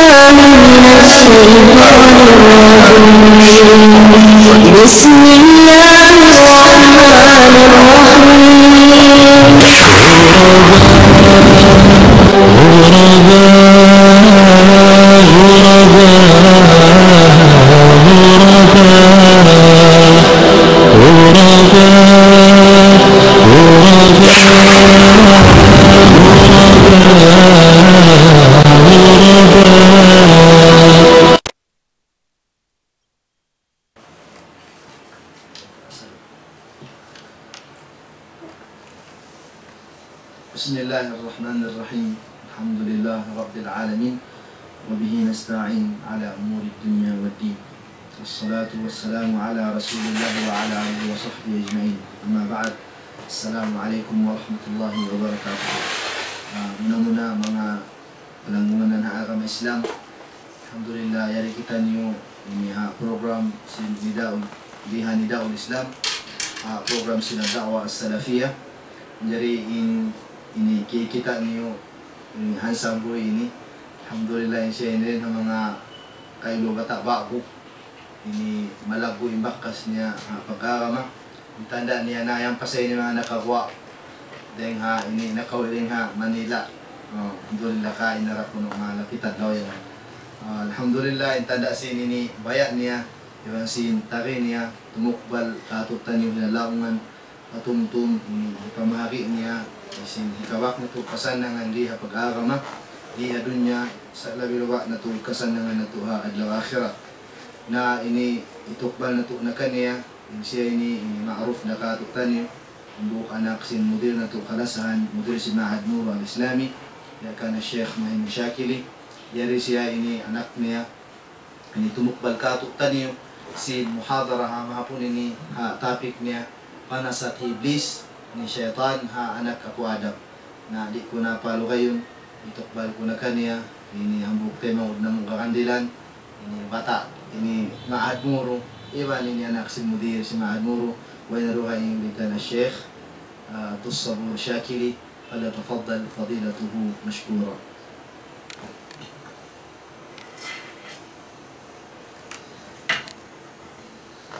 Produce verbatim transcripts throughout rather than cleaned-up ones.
من الشيطان الرجيم. بسم الله الرحمن الرحيم. بسم الله الرحمن الرحيم. الحمد لله رب العالمين، وبه نستعين على أمور الدنيا والدين، والصلاة والسلام على رسول الله وعلى آله وصحبه أجمعين. أما بعد، السلام عليكم ورحمة الله وبركاته. Ah, muna-muna, manga palanggungan ha agama Islam, alhamdulillah, yari kitaniyu ini ha program sin Nidaul, di ha Nidaul Islam, ha program sin Da'wah As-Salafiyah. Jari in, ini ki-, kitaniyu ini handsome boy ini. Alhamdulillah, in siya ini ha manga kailu bata' ba'gu. Ini malaggu' in bakas niya ha pag-agama. In tanda' niya na yan pa sa ini manga nakaguwa' dayng ha ini nakawi' dayng ha Manila. Oh, alhamdulillah, kain na ra kunu' manga lapitad daw yan. Ah, alhamdulillah, in tanda' sin ini baya' niya, iban sin tagi niya, tumukbal kātu'niyu hinalaungan, patumtum ini hipamahagi' niya, iban sin hikawak natu' kasannangan di ha pag-agama, di ha dunya, sa' labi awla natu' kasannangan natu' ha adlaw akhirat. Na ini hitukbal natu' na kaniya, in siya ini, ini ma'ruf na kātu'niyu, hambuuk anak sin mudir natu' kalasahan, mudir sin Ma'had Nur Al-Islami, ya kan Sheikh Mahin Shakili, yari siya ini anak niya, ini tumukbal kātu'niyu sin muhadara ha mahapun ini ha topic niya, panasat hi Iblis, ini saytan ha anak apu' Adam. Na di' ku na palugayun, hitukbal ku na kaniya, ini hambuuk taymanghud namu' kakandilan, ini bata', ini ma'had muru, iban ini anak sin mudir sin ma'had muru, way na dugaing bikan Sheikh, ah, Abdus Sabur Shakili, فليتفضل فضيلته مشكورا.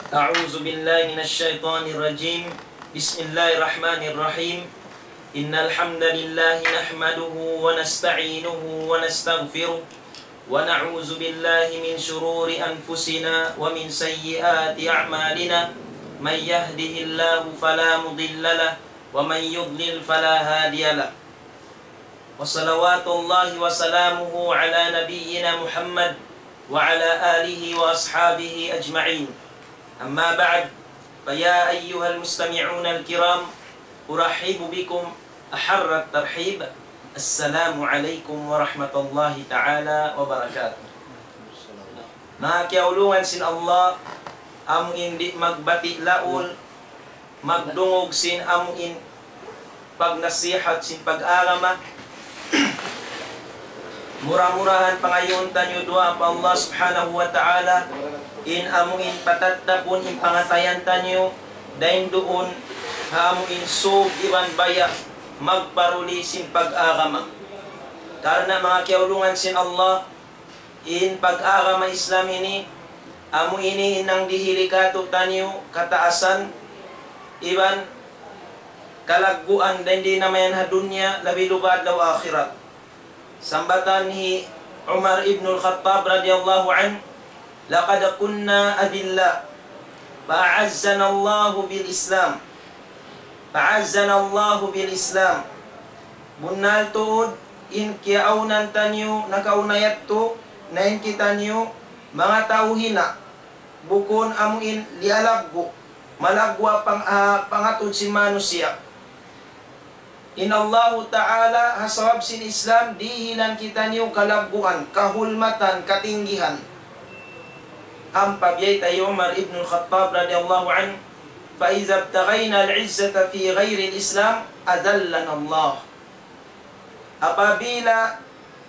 أعوذ بالله من الشيطان الرجيم. بسم الله الرحمن الرحيم. إن الحمد لله نحمده ونستعينه ونستغفره، ونعوذ بالله من شرور أنفسنا ومن سيئات أعمالنا. من يهده الله فلا مضل له، ومن يضلل فلا هادي له. وصلوات الله وسلامه على نبينا محمد وعلى آله وأصحابه أجمعين. أما بعد، فيا أيها المستمعون الكرام، أرحب بكم أحر الترحيب. السلام عليكم ورحمة الله تعالى وبركاته. Manga kiyaulungan sin Allah, amu in di' magbati' laul, magdungug sin amu in pagnasihat sin pag-agama. Mura-murahan pangayuun taniyu duwaa pa Allah Subhanahu wa Ta'ala, in amu in patattapun in pangatayan taniyu, dayn duun ha amu in sūg iban baya' magparuli sin pag-agama. Karna' manga kiyaulungan sin Allah, in pag-agama Islam ini, amu ini in nangdihili kātu'niyu kataasan iban kalagguan dayn di na mayan ha dunya, labi luba adlaw akhirat. Sambatan hi Umar ibnul Khattab radiyallahu anhu, لقد كنا أذلاء فأعزنا الله بالإسلام. فأعزنا الله بالإسلام. Bunnal tuud in kiyaawnan taniyu nakauna yadtu, na in kitaniyu manga tau hina', bukun amu in liyalaggu', malaggu' pang-, ah, pangatud sin manusiya'. In Allahu Ta'ala ha sabab sin Islam dihilan kitaniyu kalagguan, kahulmatan, katinggihan. Ampa biyayta' hi Umar ibnul Khattab radiyallahu anhu, فإذا ابتغينا العزة في غير الإسلام أذلنا الله. Apabila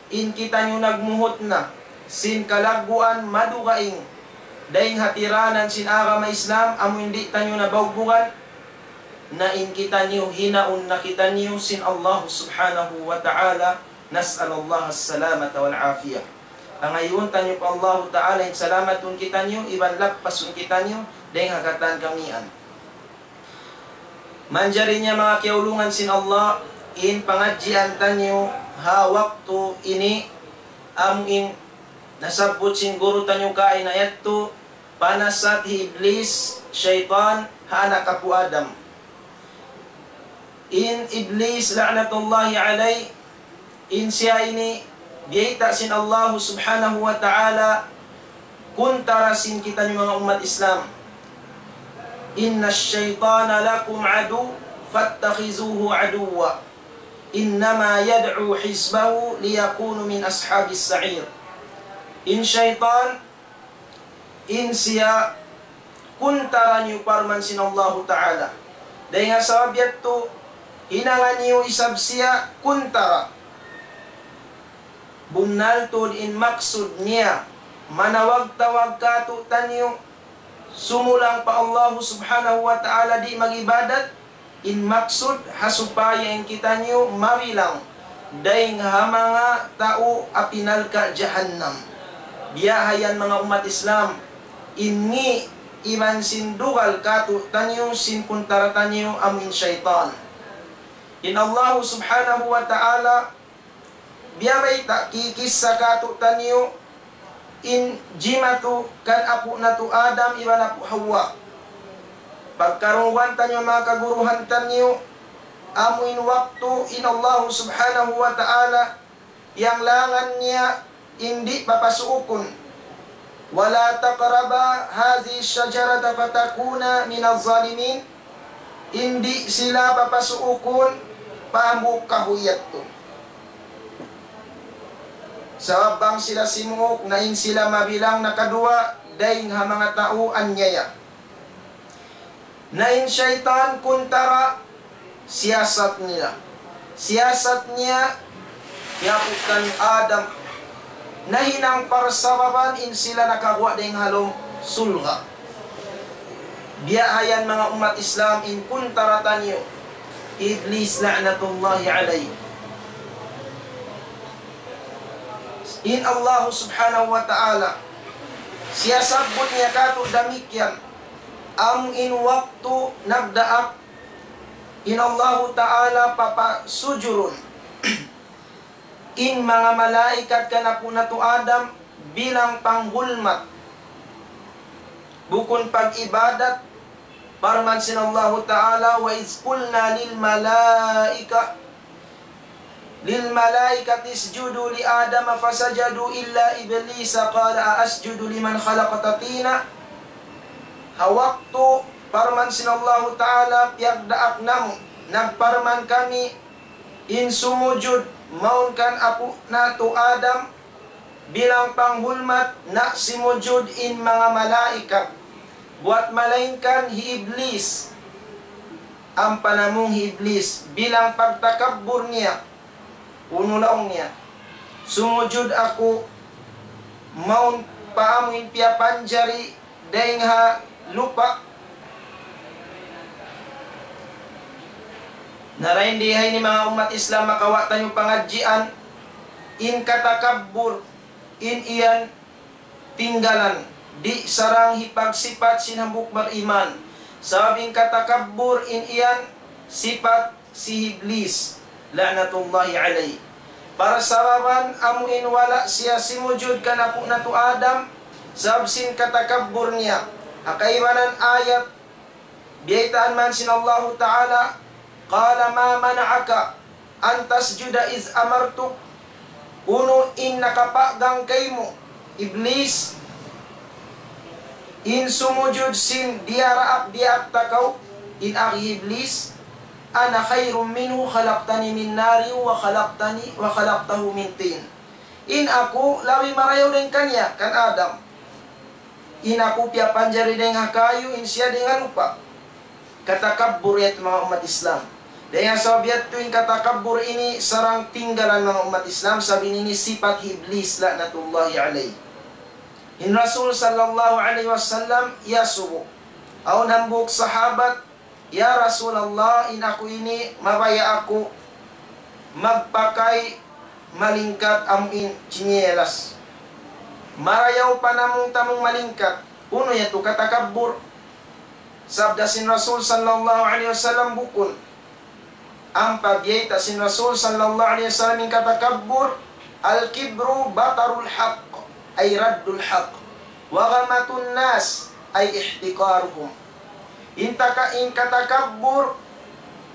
in kitaniyu nagmuhut na sin kalagguan madugaing dayn ha tiranan sin agama Islam, amu in di' taniyu na baugbugan, na in kitaniyu hinaun na kitaniyu sin Allah Subhanahu wa Ta'ala, نسأل الله السلامة والعافية. Pangayuun taniyu pa Allahu Ta'ala in salamatun kitaniyu, iban lappasun kitaniyu, dayng ha katan kamiyan. Manjari niya manga kiyaulungan sin Allah, in pangadjian taniyu ha waktu ini, amu in nasabbut sin guru taniyu kaina yadtu, panasat hi Iblis, saytan, ha anak apu' Adam. In Iblis, la'natullahi alayh, in siya ini, biyayta' sin Allahu Subhanahu wa Ta'ala, kuntara sin kitaniyu manga ummat Islam. إن الشيطان لكم عدو فاتخذوه عدوا إنما يدعو حزبه ليكونوا من أصحاب السعير. In saytan, in siya kuntara niyu parman sin Allahu Ta'ala. Dayng ha sabab yadtu, hinanga niyu isab siya kuntara. Bunnal tuud in maksud niya, manawag-tawag kātu'niyu, sumulang pa Allahu Subhanahu wa Ta'ala di' mag-ibadat, in maksud ha supaya in kitaniyu mabilang dayng ha manga tau api narka' jahannam. Biya' ha yan manga ummat Islam, in ngi' iban sin dugal kātu'niyu sin kuntara taniyu amu in saytan. In Allahu Subhanahu wa Ta'ala biyabayta', kikissa kātu'niyu in jimatu kan apu' natu' Adam iban apu' Hawa. Pagkarungugan taniyu manga kaguruhan taniyu, amu in waktu in Allahu Subhanahu wa Ta'ala piyanglangan niya in di' papasuukun. ولا تقربا هذه الشجرة فتكونا من الظالمين. In di' sila papasuukun pa hambuuk kahuy yadtu. Sabab bang sila simuuk, na in sila mabilang nakaduwa dayng ha manga tau anyaya. Na in saytan kuntara siyasat niya. Siyasat niya, hi apu' taniyu Adam, nahinang parsababan in sila nakaguwa' dayng ha lawm surga'. Biya' ha yan manga ummat Islam in kuntara taniyu, Iblis la'natullahi alayh. In Allahu Subhanahu wa Ta'ala, siyasabbut niya kātu' damikkiyan, amu in waktu nagdaak in Allahu Ta'ala papasujurun in manga malaikat kan apu' natu' Adam bilang panghulmat. Bukun pag-ibadat, parman sin Allahu Ta'ala, وإذ قلنا للملائكة للملائكة اسجدوا لآدم فسجدوا إلا إبليس قال أأسجد لمن خلقت طينا. Ha waktu parman sin Allahu Ta'ala piyagdaak namu', nagparman kami in sumujud mawn kan apu' natu' Adam, bilang panghulmat na simujud in manga malaikat. Buwat malaingkan hi Iblis. Ampa namung hi Iblis, bilang pagtakabbur niya, unu laung niya, "Sumujud aku mawn pa amu in piyapanjari dayng ha lupa'." Na dayn di ha ini manga ummat Islam makawa' taniyu pangadjian, in katakabbur, in yan tinggalan, di' sarang hipagsipat sin hambuuk bariman. Sabab in katakabbur in yan sipat hi Iblis, la'natullahi alayh. Parsababan amu in wala' siya simujud kan apu' natu' Adam, sabab sin katakabbur niya. Ha kaibanan ayat, biyaytaan man sin Allahu Ta'ala, قال ما منعك أن تسجد إذ أمرتك. Unu in nakapagang kaymu, Iblis, in sumujud sin diyaraak-diyaak ta kaw, in agi Iblis, أنا خير منه خلقتني من نار وخلقتني، وخلقته من طين. In aku labi marayaw dayn kaniya, kan Adam. In aku piyapanjari dayn ha kayu, in siya dayn ha lupa'. Katakabbur yadtu manga ummat Islam. Dayn ha sabab yadtu in katakabbur ini sarang tinggalan manga ummat Islam, sabab ini sipat hi Iblis la'natullahi alayh. In Rasul sallallahu alayhi wasallam iyasubu. Awn hambuuk sahabat, "Ya Rasulullah, in aku ini mabaya' aku magpakay malingkat amu in chinelas." Marayaw pa namung-tamung malingkat. Unu yadtu katakabbur? Sabda sin Rasul sallallahu alayhi wasallam bukun. Ampa biyayta' sin Rasul sallallahu alayhi wasallam in katakabbur, الكبر بطر الحق، أي رد الحق، وغمط الناس، أي احتقارهم. In taka-, in katakabbur,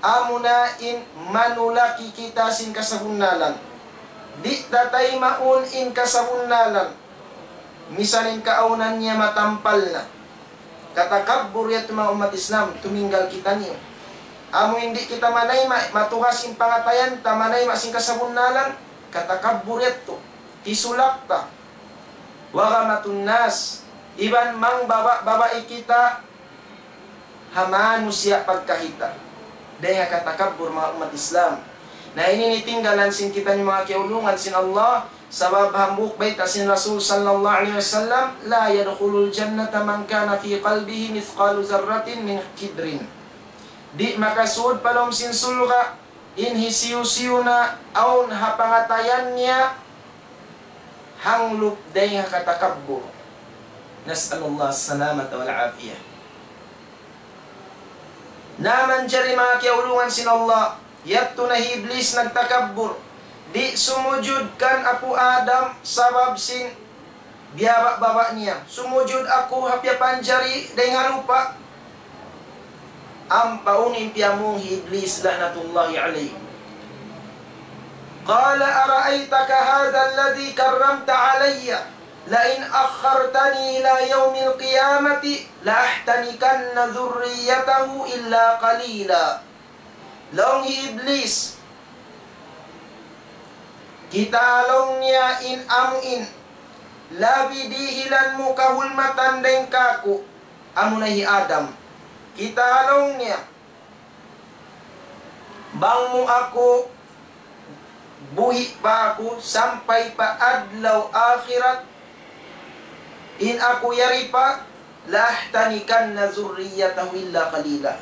amuna in manulaki kita sin kasabunnalan. Di' ta taymaun in kasabunnalan. Misan in kaawnan niya matampal na. Katakabbur yadtu manga ummat Islam, tuminggal kitaniyu. Amu in di' kita manayma', matugas in pangatayan ta, manayma' sin kasabunnalan, katakabbur yadtu. Tisulak ta. وغمط الناس. Iban mangbaba'-babai kita ha manusiya' pagkahi ta. Dayng ha katakabbur manga ummat Islam. Na ini in tinggalan sin kitaniyu manga kiyaulungan sin Allah, sabab hambuuk bayta' sin Rasul sallallahu alayhi wasallam, لا يدخل الجنة من كان في قلبه مثقال ذرة من كبر. Di' makasud pa lawm sin surga' in hisiyu-siyu na awn ha pangatayan niya hanglup dayng ha katakabbur. نسأل الله السلامة والعافية. Na manjari manga kiyaulungan sin Allah, yadtu na hi Iblis nagtakabbur. Di' sumujud kan Apu' Adam sabab sin biyaba'-baba' niya. Sumujud aku ha piyapanjari dayng ha lupa'. Ampa unu in piyamung hi Iblis la'natullahi alayh. قال أرأيتك هذا الذي كرمت علي لئن أخرتني إلى يوم القيامة لأحتنكن ذريته إلا قليلا. Laung hi Iblis, kita' laung niya in amu in labi dihilan mu kahulmatan dayng kāku', amuna hi Adam. Kita' laung niya, bang mu aku buhi' pa aku sampay pa adlaw akhirat, in aku yari pa, لأحتنكن ذريته إلا قليلا.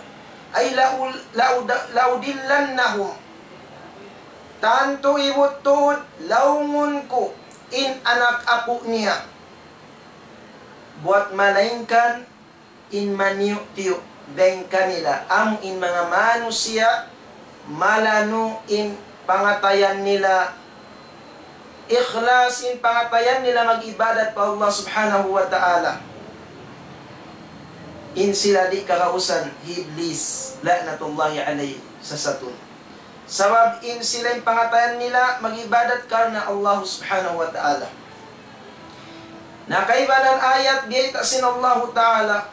Ay لأ-، لأد-، لأضلنهم. Tantu ibut tuud, laungun ku in anak apu' niya. Buwat malaingkan in maniyu'-tiyu' dayng kanila, amu in manga manusiya', malanu in pangatayan nila, ikhlas in pangatayan nila mag-ibadat pa Allah Subhanahu wa Ta'ala. In sila di' kagausan hi Iblis, la'natullahi alayh, sasatun. Sabab in sila in pangatayan nila mag-ibadat karna' Allah Subhanahu wa Ta'ala. Na kaibanan ayat biyayta' sin Allahu Ta'ala,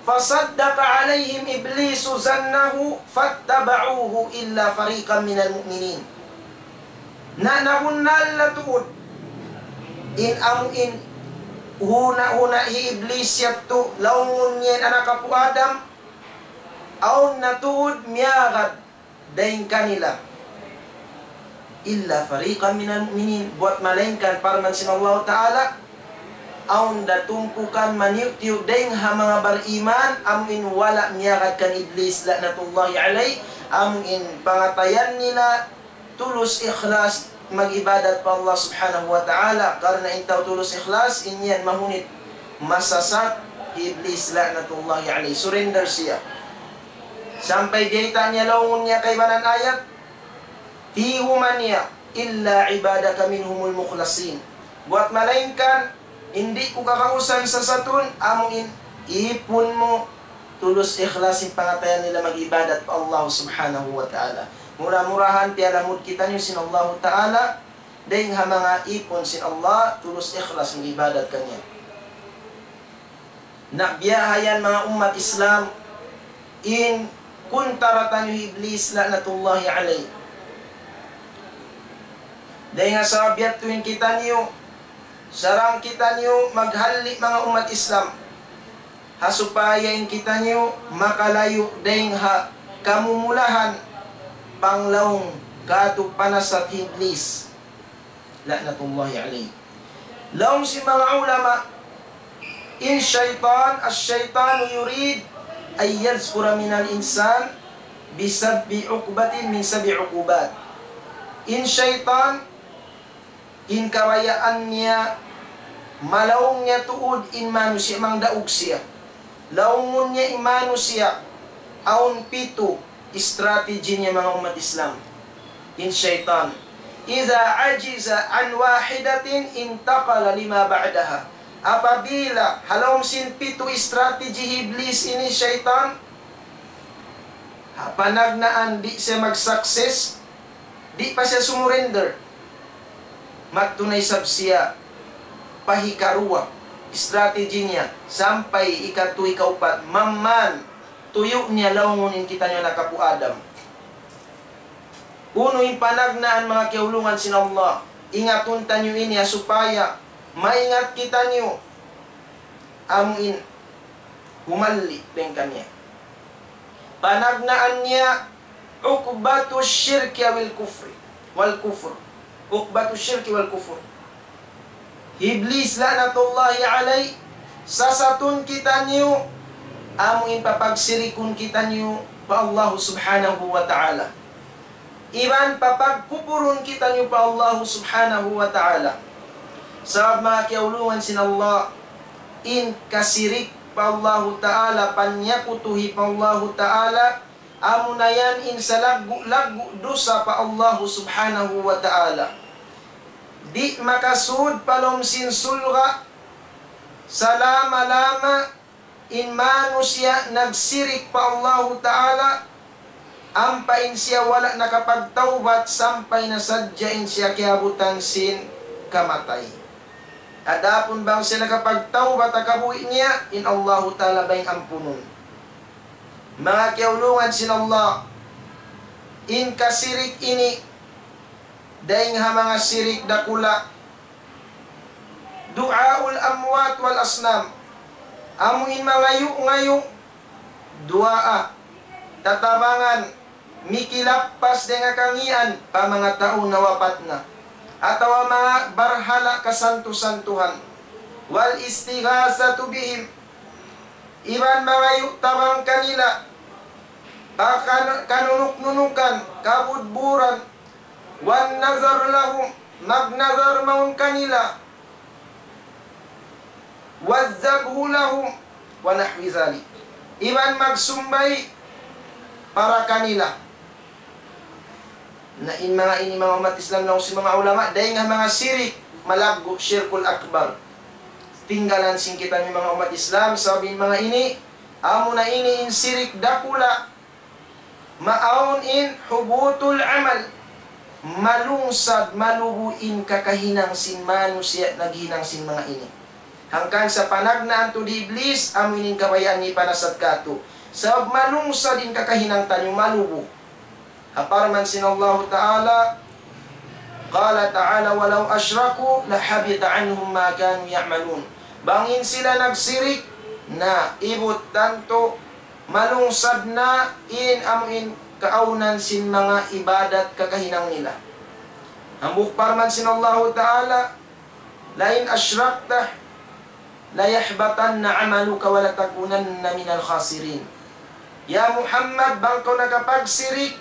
فصدق عليهم إبليس ظنه فاتبعوه إلا فريقا من المؤمنين. Na nabunnal na tuud in amu in huna-huna hi Iblis yadtu, laungun niya in anak apu' Adam, awn na tuud miyagad dayng kanila. إلا فريقا من المؤمنين. Buwat malaingkan parman sin Allahu Ta'ala, awn da tumpukan maniyu'-tiyu' dayng ha manga bariman, amu in wala' miyagad kan Iblis, la'natullahi alayh, amu in pangatayan nila tulus ikhlas mag-ibadat pa Allah Subhanahu wa Ta'ala, karna' in tau tulus ikhlas, in yan mahunit masasat hi Iblis, la'natullahi alayh, surrender siya. Sampay biyayta' niya laungun niya kaibanan ayat, tiyuman niya, إلا عبادك منهم المخلصين. Buwat malaingkan, in di' ku kagausan sasatun, amu in ipun mu, tulus ikhlas in pangatayan nila mag-ibadat pa Allah Subhanahu wa Ta'ala. Mura-murahan piyalamud kitaniyu sin Allahu Ta'ala, dayng ha manga ipun sin Allah, tulus ikhlas mag-ibadat kaniya. Na biya' ha yan manga ummat Islam, in kuntara taniyu hi Iblis la'natullahi alayh. Dayng ha sabab yadtu in kitaniyu, sarang kitaniyu maghalli' manga ummat Islam. Ha supaya in kitaniyu makalayu' dayng ha kamumulahan panglaung kātu' panasat hi Iblis. La'natullahi alayh. Laung sin manga ulama, in saytan, الشيطان يريد أن يذكر من الإنسان بسبع عقبة من سبع عقوبات. In saytan, in kabayaan niya Malaung niya tuud in manusiya', mangdaug siya. Laungun niya in manusiya', awn pitu strategy niya, manga ummat Islam. In saytan. إذا عجز عن واحدة انتقل لما بعدها. Apabila, ha lawm sin pitu strategy hi Iblis ini, saytan, ha panagnaan di' siya mag-success, di' pa siya sumurrender. Magtunay sab siya pa hikaruwa, strategy niya, sampay ikatu, ikaupat, mamman, tuyu' niya laungun in kitaniyu anak apu' Adam. Unu in panagnaan, manga kiyaulungan sin Allah, ingatun taniyu ini, ha supaya maingat kitaniyu, amu in humalli' dayn kaniya. Panagnaan niya, عقبة الشرك والكفر، والكفر. عقبة الشرك والكفر. Iblis la'natullahi alayh, sasatun kitaniyu, amu in papagsirikun kitaniyu pa Allah subhanahu wa ta'ala. Iban papagkupurun kitaniyu pa Allah subhanahu wa ta'ala. Sabab manga kiyaulungan sin Allah, in kasirik pa Allah ta'ala, panyakutuhi pa Allah ta'ala, amuna yan in salaggu'-laggu' dusa pa Allah subhanahu wa ta'ala. Di' makasud pa lawm sin surga' salama-lama in manusiya' nagsirik pa Allahu Ta'ala, ampa in siya wala' nakapagtawbat sampay na sadja in siya kiyabutan sin kamatay. Adapun bang siya nakapagtawbat ha kabuhi' niya, in Allahu Ta'ala bayng ampunun. Manga kiyaulungan sin Allah, in kasirik ini, dayng ha manga sirik dakula', دعاء الأموات والأصنام. Amu in mangayu'-ngayu', duwaa, tatabangan, mikilappas dayn ha kangīan pa manga tau nawapat na. Atawa manga barhala' kasantu-santuhan. والاستغاثة بهم. Iban mangayu' tabang kanila, pa kan-, kanunuk-nunukan, kabudburan, والنذر لهم, magnadhar mawn kanila, والذبح لهم, ونحو ذلك. Iban magsumbay para kanila. Na in manga ini, manga ummat Islam, laung sin manga ulama, dayng ha manga sirik malaggu', shirkul akbar. Tinggalan sin kitaniyu manga ummat Islam, sabab in manga ini, amuna ini in sirik dakula', maawn in hubutul amal, malungsad, malubu in kakahinang sin manusiya' naghinang sin manga ini. Hangkan sa panagnaan tuud hi Iblis, amu ini in kabayaan niya panasat kātu'. Sabab malungsad in kakahinang taniyu, malubu. Ha parman sin Allahu Ta'ala, قال تعالى: ولو أشركوا لحبط عنهم ما كانوا يعملون. Bang in sila nagsirik, na ibut tantu malungsad na in amu in kaawnan sin manga ibadat kakahinang nila. Hambuuk parman sin Allahu Ta'ala, لئن أشركت ليحبطن عملك ولتكونن من الخاسرين. Ya Muhammad, bang kaw nakapagsirik,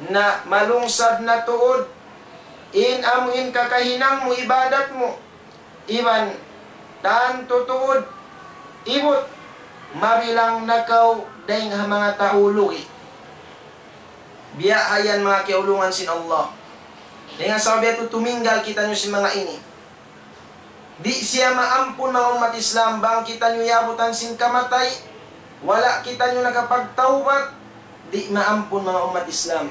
na malungsad na tuud in amu in kakahinang mu, ibadat mu, iban tantu tuud ibut mabilang na kaw dayng ha manga tau lugi'. Biya' ha yan manga kiyaulungan sin Allah. Dayn ha sabab yadtu tuminggal kitaniyu sin manga ini. Di' siya maampun manga ummat Islam, bang kitaniyu yabutan sin kamatay, wala' kitaniyu nakapagtawbat, di' maampun manga ummat Islam.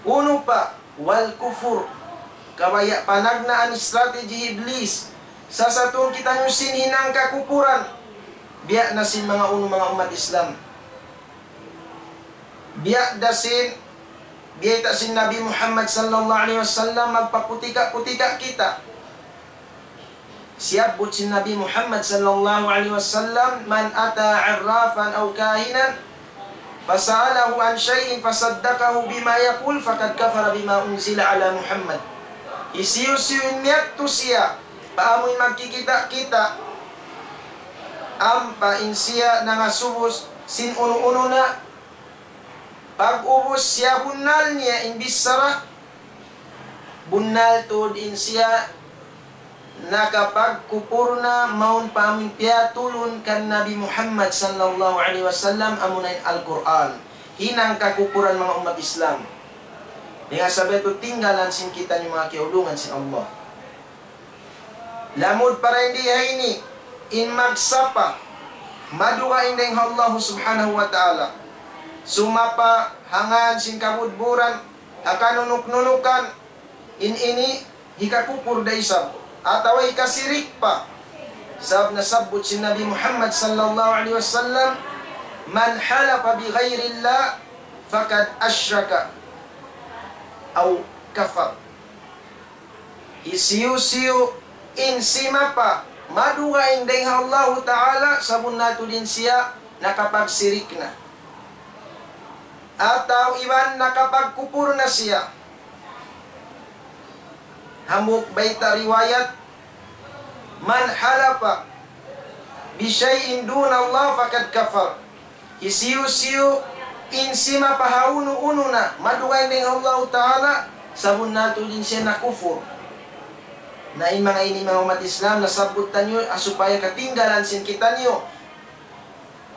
Unu pa, والكفر. Kabaya' panagnaan strategy hi Iblis. Sasatun kitaniyu sin hinang kakupuran. Biya' na sin manga unu manga ummat Islam. Biya' da sin, biyayta' sin Nabi Muhammad sallallahu alayhi wasallam, magpaputika-putika kita. Siyabbut sin Nabi Muhammad sallallahu alayhi wasallam, من أتى عرافا أو كاهنا فسأله عن شيء فصدقه بما يقول فقد كفر بما أنزل على محمد. Hisiyu-siyu in miyadtu siya pa amuin magkikita'-kita', ampa in siya nangasubu sin unu-unu na, pag'ubus siya bunnal niya in bichara, bunnal tuud in siya nakapagkupur na mawn pa amun piyatulun kan Nabi Muhammad sallallahu alayhi wasallam, amuna in Al-Qur'an. Hinang kakupuran, manga ummat Islam. Dayn ha sabab yadtu, tinggalan sin kitaniyu, manga kiyaulungan sin Allah. Lamud pa dayn di ha ini, in magsapa, madugaing dayn ha Allah subhanahu wa ta'ala. Sumapa ha ngan sin kabudburan, ha kanunuk-nunukan, in ini hikakupur da isab, atawa hikasirik pa. Sabab nasabbut sin Nabi Muhammad sallallahu alayhi wasallam, من حلف بغير الله فقد أشرك أو كفر. Hisiyu-siyu in simapa madugaing dayn ha Allahu Ta'ala, sabunnal tuud in siya nakapagsirik na. Atawa iban nakapagkupur na siya. Hambuuk bayta' riwayat, من حلف بشيء دون الله فقد كفر. Hisiyu-siyu in simapa ha unu-unu na madugaing dayn ha Allahu Ta'ala, sabunnal tuud in siya nakufur. Na in manga ini, manga ummat Islam, nasabbut taniyu, ah, supaya katinggalan sin kitaniyu.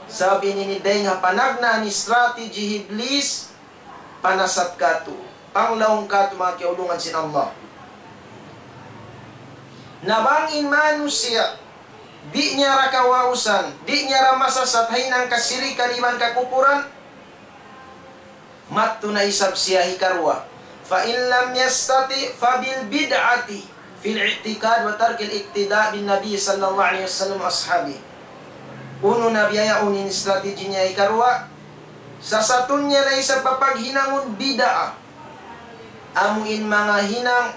Sabab in ini dayn ha panagnaan strategy hi Iblis, panasat katu', panglaung katu', manga kiyaulungan sin Allah. Na bang in manusiya', di' niya ra kawausan, di' niya ra masasat ha hinang kasirikan iban kakupuran, madtu na isab siya hikaruwa. فإن لم يستطع فبالبدعة في الاعتقاد وترك الاقتداء بالنبي صلى الله عليه وسلم وأصحابه. Unu na biya' yaun in strategy niya hikaruwa, sasatun niya na isab pa paghinangun bid'ah. Amu in manga hinang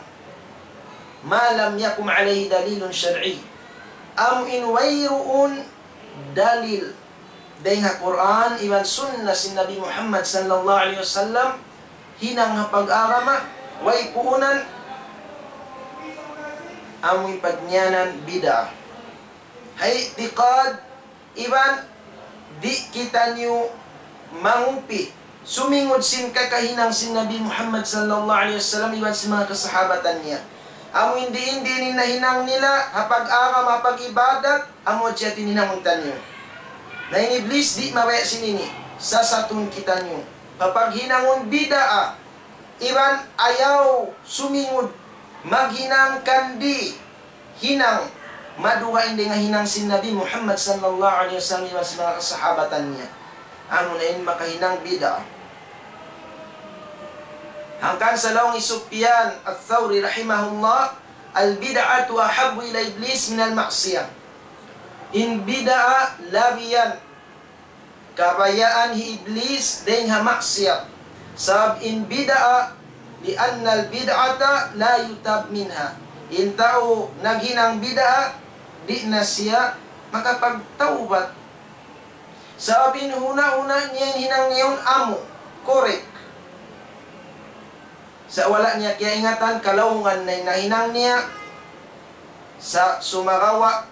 ما لم يقم عليه دليل شرعي. Amu in wayruun dalil dayn ha Qur'an iban sunnah sin Nabi Muhammad sallallahu alayhi wasallam, hinang ha pag-agama, way puunan, amu in pagngānan bid'ah. Ha i'tiqad, iban di' kitaniyu mangupi, sumingud sin kakahinang sin Nabi Muhammad sallallahu alayhi wasallam iban sin manga kasahabatan niya. Amu in diin-diin in nahinang nila, ha pag-agama, ha pag-ibadat, amu hadja in hinangun taniyu. Na in Iblis di' mabaya' sin ini, sasatun kitaniyu. Ha paghinangun bid'ah, iban ayaw sumingud maghinang kan di' hinang madugaing dayn ha hinang sin Nabi Muhammad sallallahu alayhi wasallam iban sin manga kasahabatan niya. Amu na in makahinang bid'ah. Hangkan sa laung hi Sufyan Ath-Thawri rahimahullah, البدعة أحب إلى إبليس من المعصية. In bid'ah labi yan kabayaan hi Iblis dayn ha maksiyat. Sabab in bid'ah, لأن البدعة لا يتاب منها. In tau naghinang bid'ah, di' na siya makapagtawbat. Sabab in huna-huna niya in hinang niya yaun amu, correct. Sa' wala' niya kiyaingatan, kalaungan na in nahinang niya. Sa' sumagawa',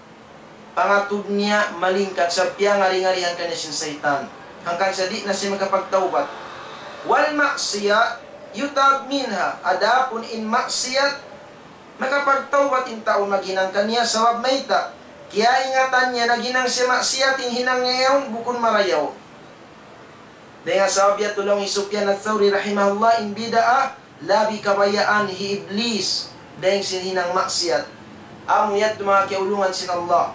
pangatud niya malingkat sa' piyangari-ngarihan kaniya sin saytan. Hangkan sa' di' na siya makapagtawbat. والمعصية يتاب منها. Adapun in maksiyat, makapagtawbat in tau maghinang kaniya, sabab mayta'? Kiyaingatan niya naghinang siya maksiyat, in hinang niya yaun bukun marayaw. Dayn ha sabab yadtu laung hi Sufyan Ath-Thawri rahimahullah, in bid'ah labi kabayaan hi Iblis dayn sin hinang maksiyat. Amu yadtu manga kiyaulungan sin Allah.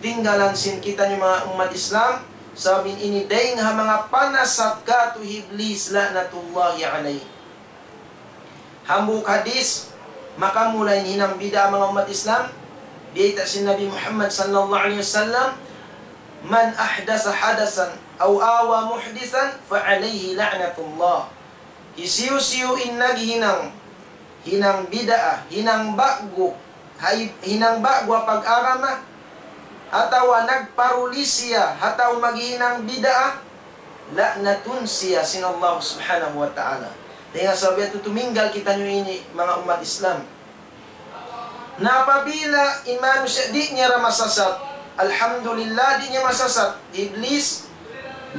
Tinggalan sin kitaniyu manga ummat Islam, sabab in ini dayn ha manga panasat katu' hi Iblis la'natullahi alayh. Hambuuk hadith, makamula in hinang bid'ah manga ummat Islam, biyayta' sin Nabi Muhammad sallallahu alayhi wasallam, من أحدث حدثا أو آوى محدثا فعليه لعنة الله. Hisiyu-siyu in naghinang hinang bid'ah, hinang ba'gu, hay-, hinang ba'gu ha pag-agama, atawa nagparuli siya ha tau maghinang bid'ah, la'natun siya sin Allah Subhanahu wa Ta'ala. Dayn ha sabab yadtu tuminggal kitaniyu ini, manga ummat Islam. Na apabila in manusiya' di' niya ra masasat, alhamdulillah, di' niya masasat Iblis,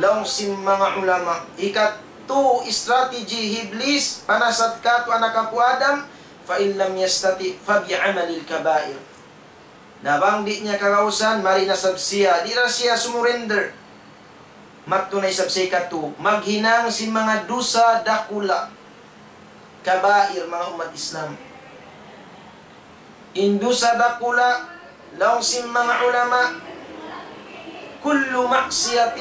laung sin manga ulama. Hikatu strategy hi Iblis, panasat katu' anak apu' Adam, فإن لم يستطع فبعمل الكبائر. Na bang di' niya kagausan, mari na isab siya, di' na siya sumurrender. Mattu na isab siya ikatu, maghinang sin manga dusa dakula', kabair, manga ummat Islam. In dusa dakula', laung sin manga ulama, كل معصية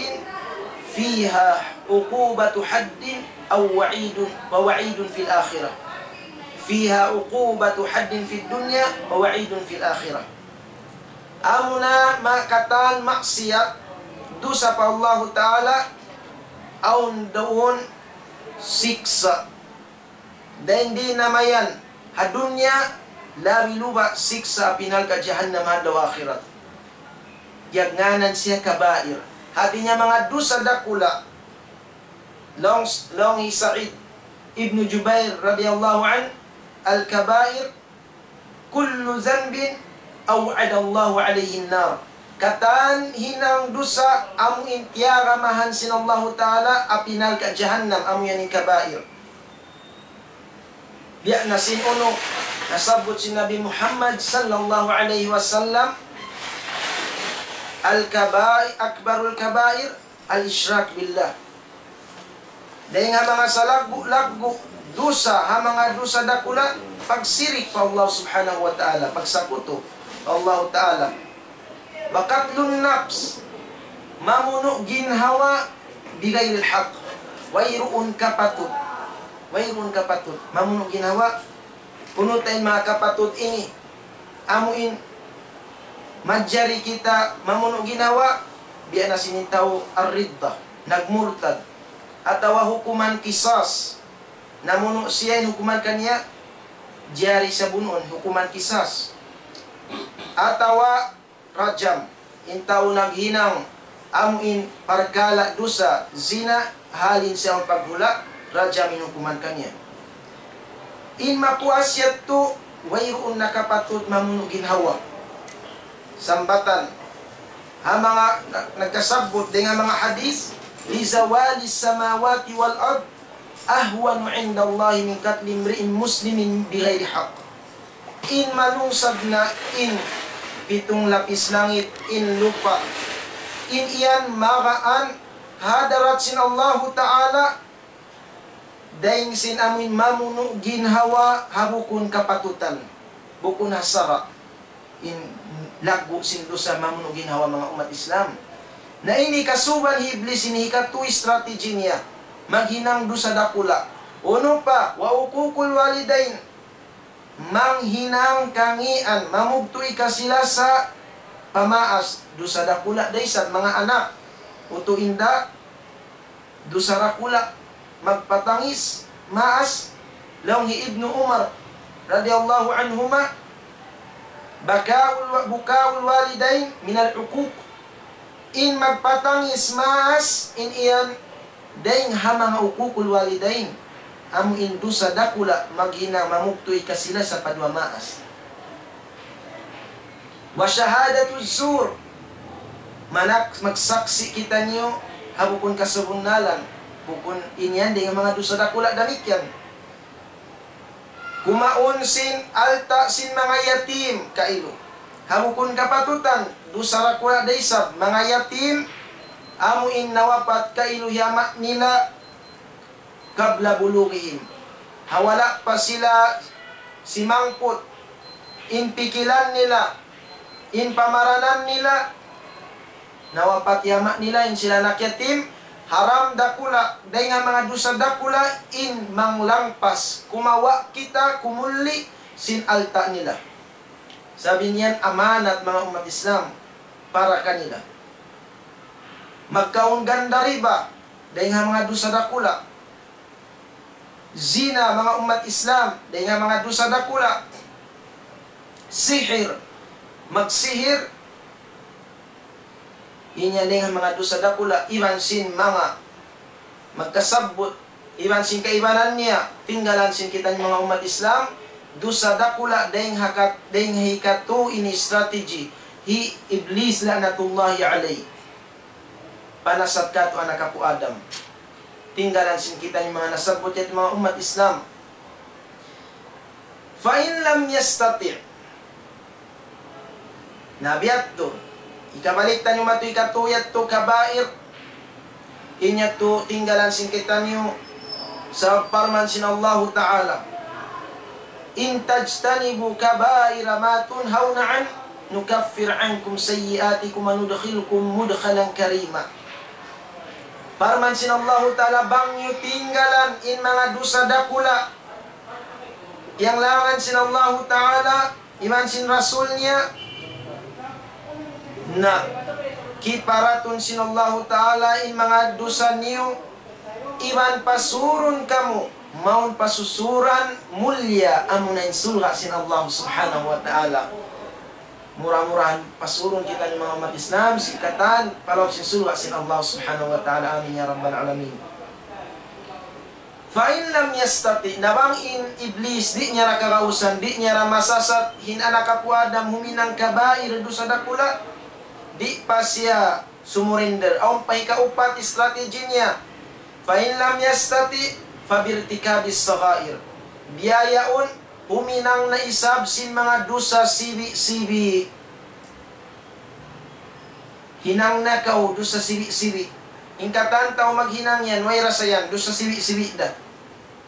فيها عقوبة حد أو وعيد، ووعيد في الآخرة. فيها عقوبة حد في الدنيا ووعيد في الآخرة. Amuna ma-, katan maksiyat, dusa pa Allahu Ta'ala, awn duun siksa'. Dayn di na mayan ha dunya, labi luba' siksa' api narka' jahannam ha adlaw akhirat. Piyagngānan siya kabair. Hāti niya manga dusa dakula'. Laung, laung hi Sa'id ibn Jubair radiyallahu anhu, الكبائر كل ذنب أوعد الله عليه النار. Katan hinang dusa amu in tiyagamahan sin Allahu Ta'ala api narka' jahannam, amu yan in kabair. Biya' na sin unu nasabbut sin Nabi Muhammad sallallahu alayhi wasallam, الكبائر، أكبر الكبائر الإشراك بالله. Dayn ha manga salaggu'-laggu' dusa, ha manga dusa dakula', pagsirik pa Allah Subhanahu wa Ta'ala, pagsakutu pa Allah Ta'ala. وقتل النفس, mamunu' ginhawa, بغير الحق, wayruun kapatut. Wayruun kapatut. Mamunu' ginhawa, unu ta in manga kapatut ini? Amu in manjari kita mamunu' ginhawa, biya' na sin tau ar-ridda, nagmurtad. Atawa hukuman qisas. Namunu' siya, in hukuman kaniya, jari siya bunuun, hukuman qisas. Atawa rajam, in tau naghinang amu in parkala' dusa zina, halin siya paghula', rajam in hukuman kaniya. In mapuas yadtu, wayruun na kapatut mamunu' ginhawa. Sambatan ha manga na-, nagkasabbut dayn ha manga hadith, لزوال السماوات والأرض أهون عند الله من قتل امرئ مسلم بغير حق. In malungsad na in pitung lapis langit, in lupa', in yan magaan ha hadarat sin Allahu Ta'ala, dayn sin amu in mamunu' ginhawa ha bukun kapatutan, bukun ha sara'. In laggu' sin dusa mamunu' ginhawa, manga ummat Islam. Na ini kasuban hi Iblis, ini hikatu strategy niya. Maghinang dusa dakula'. Unu pa, وعقوق الوالدين. Manghinang kangīan, mamugtu' ikasila sa pamaas, dusa dakula' da isab, manga anak. Utu' inda', dusa dakula', magpatangis maas. Laung hi Ibnu Umar radiyallahu anhuma, بكاء الو-، بكاء الوالدين من العقوق. In magpatangis maas, in yan dayn ha manga uququl walidain, amu in dusa dakula', maghinang mamugtu' ikasila sa pa duwa maas. وشهادة الزور, manak-, magsaksi' kitaniyu ha bukun kasabunnalan, bukun, in yan dayn ha manga dusa dakula' damikkiyan. Kumaun sin alta' sin manga yatim kailu. Ha bukun kapatutan, dusa dakula' da isab, manga yatim, amu in nawapat kailu hi ama' nila, قبل بلوغهم. Ha wala' pa sila simangput, in pikilan nila, in pamaranan nila, nawapat hi ama' nila, in sila anak yatim, haram dakula', dayn ha manga dusa dakula', in manglangpas, kumawa' kita, kumulli' sin alta' nila. Sabab in yan amanat, manga ummat Islam, para kanila. Magkaun ganda riba, dayn ha manga dusa dakula'. Zina, manga ummat Islam, dayn ha manga dusa dakula'. Sihir, magsihir, in yan dayn ha manga dusa dakula', iban sin manga magkasabbut, iban sin kaibanan niya, tinggalan sin kitaniyu manga ummat Islam, dusa dakula', dayn ha kat-, dayn ha hikatu ini strategy hi Iblis la'natullahi alayh. Panasat katu' anak apu' Adam. Tinggalan sin kitaniyu manga nasabbut yadtu manga ummat Islam. فإن لم يستطع. Na biya' yadtu, hikabalik taniyu matu hikatū yadtu kabair, in yadtu tinggalan sin kitaniyu, sabab parman sin Allahu Ta'ala, إن تجتنبوا كبائر ما تنهون عنه نكفر عنكم سيئاتكم وندخلكم مدخلا كريما. Parman sin Allahu Ta'ala, bang niyu tinggalan in manga dusa dakula', piyanglangan sin Allahu Ta'ala, iban sin Rasul niya, na kiparatun sin Allahu Ta'ala in manga dusa niyu, iban pasurun kamu, mawn pasusuran mulliya, amuna in surga' sin Allah Subhanahu wa Ta'ala. Mura-murahan pasurun kitaniyu manga ummat Islam sin katan pa lawm sin surga' sin Allah Subhanahu wa Ta'ala. Amin ya rabbal alamin. فإن لم يستطع, na bang in Iblis di' niya ra kagausan, di' niya ra masasat, in anak apu' Adam huminang kabair, dusa dakula', di' pa siya sumurender. Awn pa hikaupat strategy niya. فإن لم يستطع فبارتكاب الصغائر. Biya' yaun, huminang na isab sin manga dusa sibi'-sibi'. Hinang na kaw dusa sibi'-sibi'. In katan tau maghinang yan, way rasa yan, dusa sibi'-sibi' da.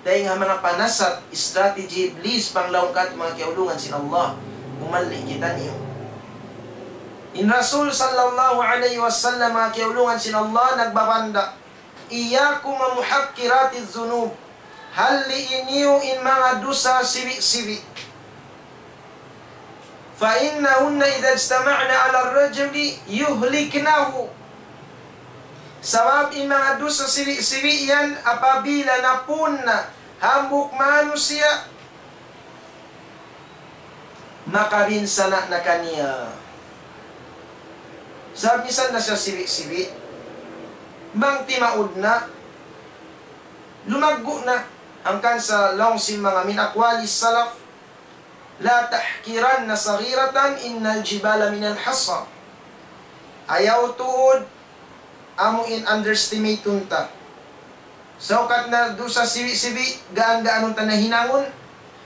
Dayn ha manga panasat, strategy Iblis, panglaung katu' manga kiyaulungan sin Allah. Umalli' kitaniyu. In Rasul sallallahu alayhi wasallam, manga kiyaulungan sin Allah, nagbabanda, إياكم ومحقرات الذنوب. Halli'i niyu in manga dusa sibi'-sibi'. فإنهن إذا اجتمعن على الرجل يهلكنه. Sabab in manga dusa sibi'-sibi' yan apabila napun na hambuuk manusiya', makabinsana' na kaniya. Sabab misan na siya sibi'-sibi', bang timaud na, lumaggu' na. Hangkan sa laung sin manga من أقوال السلف, لا تحقرن صغيرة إن الجبال من الحصى. Ayaw tuud amu in underestimate-un ta. Saukat na dusa sibi'-sibi', gaan-gaanun ta na hinangun.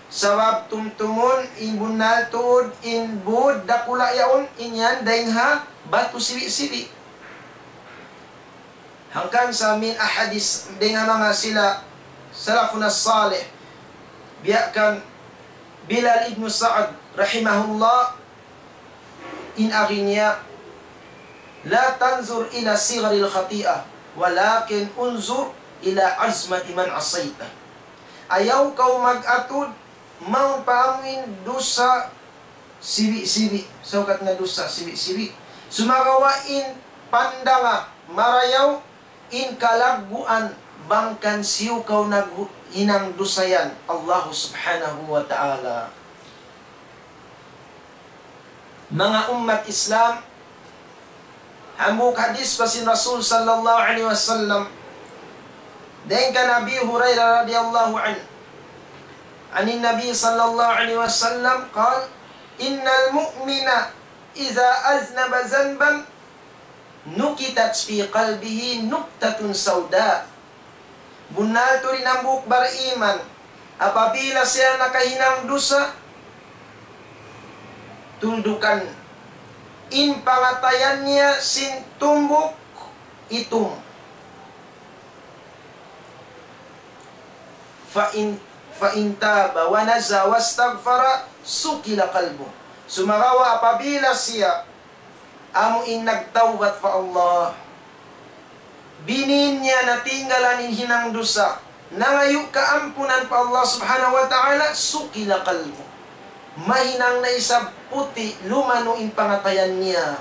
Sabab tumtumun, in bunnal tuud, in būd dakula' yaun, in yan dayn ha batu sibi'-sibi'. Hangkan sa من أحاديث, dayn ha manga sila salafun as-salih, biya' kan Bilal ibn Sa'd rahimahullah, in agi niya, لا تنظر إلى صغر الخطيئة ولكن انظر إلى عظمة من عصيته. Ayaw kaw mag-atud mawn pa amuin dusa sibi'-sibi', saukat na dusa sibi'-sibi'. Sumagawa' in pandanga marayaw in kalagguan bang kan hisiyu kaw naghinang dusa yan, Allah Subhanahu wa Ta'ala. Manga ummat Islam, hambuuk hadith pa sin Rasul sallallahu alayhi wasallam, dayn kan Abi Hurairah radiyallahu anhu, عن النبي صلى الله عليه وسلم قال: إن المؤمن إذا أذنب ذنبا نكتت في قلبه نكتة سوداء. Bunnal tuud in hambuuk bariman, apabila siya nakahinang dusa, tuldukan in pangatayan niya sin tumbuk itum. فإن، فإن تاب ونزه واستغفر صقل قلبه. Sumagawa' apabila siya amu in nagtawbat pa Allah, binin niya na tinggalan in hinang dusa, nangayu' kaampunan pa Allah Subhanahu wa Ta'ala, صقل قلبه. Mahinang na isab puti', lumanu' in pangatayan niya,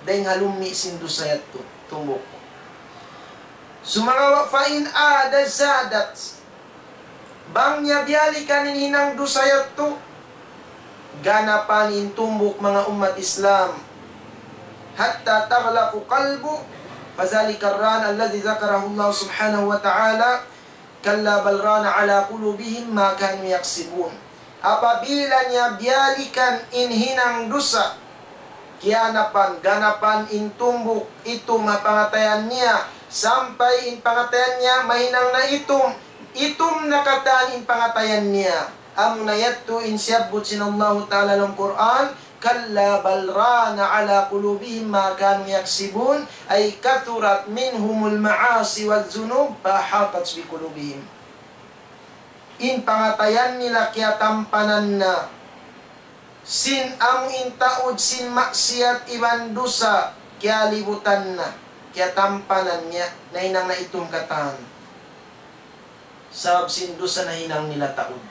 dayn ha lummi' sin dusa yadtu, tumbuk. Sumagawa' فإن عاد زادت. Bang niya biyalikan in hinang dusa yadtu, ganapan in tumbuk, manga ummat Islam. حتى تغلف قلبه، فذلك الران الذي ذكره الله سبحانه وتعالى، كلا بل ران على قلوبهم ما كانوا يكسبون. Apabila niya biyalikan in hinang dusa, kiyanapan, ganapan in tumbuk itum ha pangatayan niya, sampay in pangatayan niya mahinang na itum, itum na katan in pangatayan niya. Amuna yadtu in siyabbut sin Allahu Ta'ala ha lawm Qur'an, كلا بل ران على قلوبهم ما كانوا يكسبون، أي كثرت منهم المعاصي والذنوب فأحاطت بقلوبهم. In pangatayan nila kiyatampanan na sin amu in taud sin maksiyat iban dusa, kiyalibutan na, kiyatampanan niya, nahinang na itum katan. Sabab sin dusa nahinang nila taud.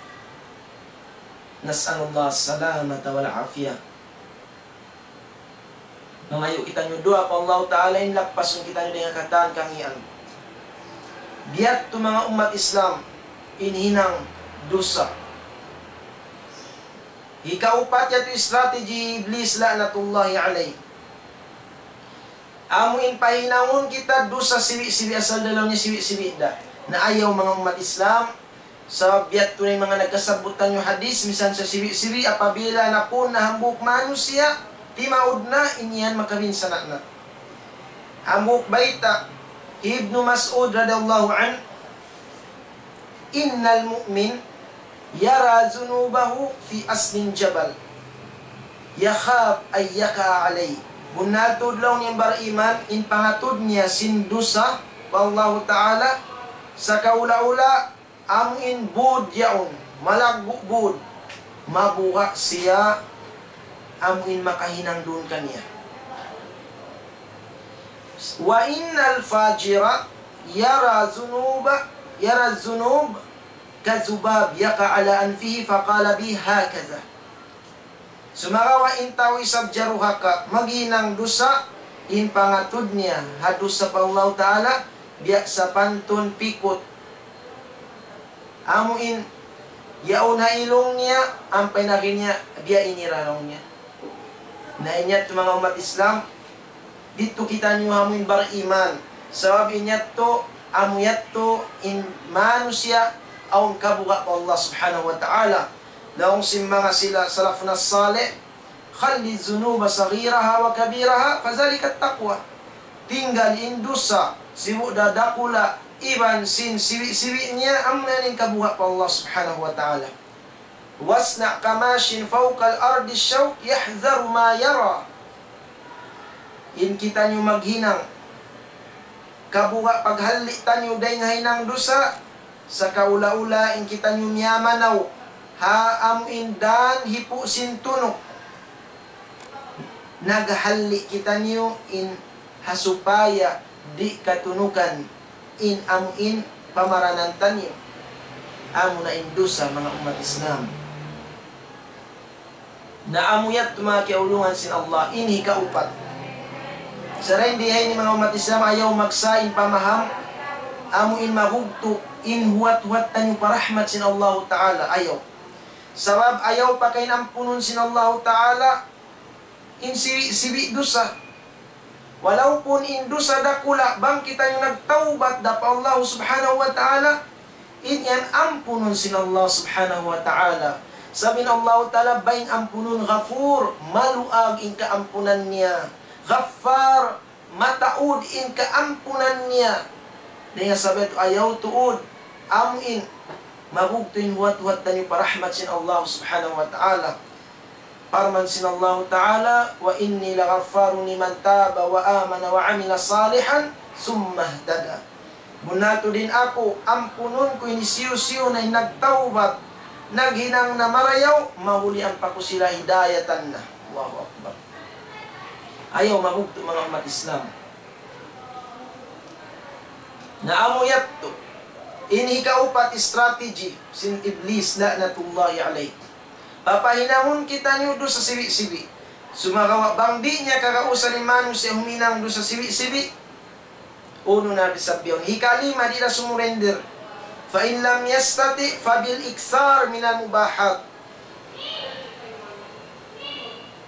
نسأل الله السلامة والعافية. Mangayu' kitaniyu duwaa pa Allah Ta'ala in lappasun kitaniyu dayn ha katan kangīan. Biya' tu manga ummat Islam, in hinang dusa. Hikaupat yadtu strategy Iblis la'natullahi alayh. Amu in pahinangun kita dusa sibi'-sibi' asal da laung niya sibi'-sibi' da. Na ayaw manga ummat Islam, sabab biya' tu na in manga nagkasabbut taniyu hadith, misan sa sibi'-sibi', apabila napun na hambuuk manusiya', timaud na in yan makabinsana' na. Hambuuk bayta' hi Ibnu Mas'ud radiyallahu anhu, إن المؤمن يرى ذنوبه في أصل الجبل يخاف أن يقع عليه. Bunnal tuud laung niya in bariman, in pangatud niya sin dusa pa Allahu Ta'ala, sakaula-ula amu in būd yaun, malaggu' būd, mabuga' siya amu in makahinang duun kaniya. وإن الفاجر يرى ذنوب، يرى الذنوب كالذباب يقع على أنفه فقال به هكذا. Sumagawa' in tau isab jaruraka maghinang dusa, in pangatud niya ha dusa pa Allahu Ta'ala, biya' sapantun pikut. Amu in yaun ha ilung niya, ampa in agi niya, biya' ini ra laung niya. Na in yadtu manga ummat Islam, didtu kitaniyu amu in bariman. Sabab in yadtu, amu yadtu in manusiya' awn kabuga' pa Allah Subhanahu wa Ta'ala. Laung sin manga sila salafun salih, خل الذنوب صغيرها وكبيرها فذلك التقوى. Tinggal in dusa, sibu' da dakula', iban sin sibi'-sibi' niya, amuna in kabuga' pa Allah Subhanahu wa Ta'ala. واصنع كماش فوق الأرض الشوك يحذر ما يرى. In kitaniyu maghinang kabuga' paghalli' taniyu dayn ha hinang dusa, sakaula-ula in kitaniyu miyamanaw ha amu in dān hipu' sin tunuk. Naghalli' kitaniyu in ha supaya di' katunukan in amu in pamaranan taniyu. Amuna in dusa, manga ummat Islam. Na amu yadtu manga kiyaulungan sin Allah, in hikaupat. Sarain di ha ini manga ummat Islam, ayaw magsa in pamaham, amu in mabugtu', in huwat-huwat taniyu pa rahmat sin Allahu Ta'ala, ayaw. Sabab ayaw pa kain ampunun sin Allahu Ta'ala, in sibi'-sibi' dusa. Walaupun in dusa dakula', bang kitaniyu nagtawbat da pa Allah Subhanahu wa Ta'ala, in yan ampunun sin Allah Subhanahu wa Ta'ala. Sabab in Allah Ta'ala bang ampunun, Ghafur, maluag in kaampunan niya. Ghaffar, mataud in kaampunan niya. Dayn ha sabab yadtu ayaw tuud, amu in mabugtu' in huwat-huwat taniyu pa rahmat sin Allah Subhanahu wa Ta'ala. Parman sin Allahu Ta'ala, وإني لغفار لمن تاب وآمن وعمل صالحا ثم اهتدى. Bunnal tuud in aku, ampunun ku in hisiyu-siyu na in nagtawbat, naghinang na marayaw, mahuli ampa ku sila hidayatan na. Allahu Akbar. Ayaw mabugtu', manga ummat Islam. Na amu yadtu, in hikaupat strategy sin Iblis la'natullahi alayh. Papahinangun kitaniyu dusa sibi'-sibi'. Sumagawa' bang di' niya kagausan in manusiya' huminang dusa sibi'-sibi', unu na isab yaun. Hikalima, di' na sumurender. فإن لم يستطع فبالإكثار من المباحات.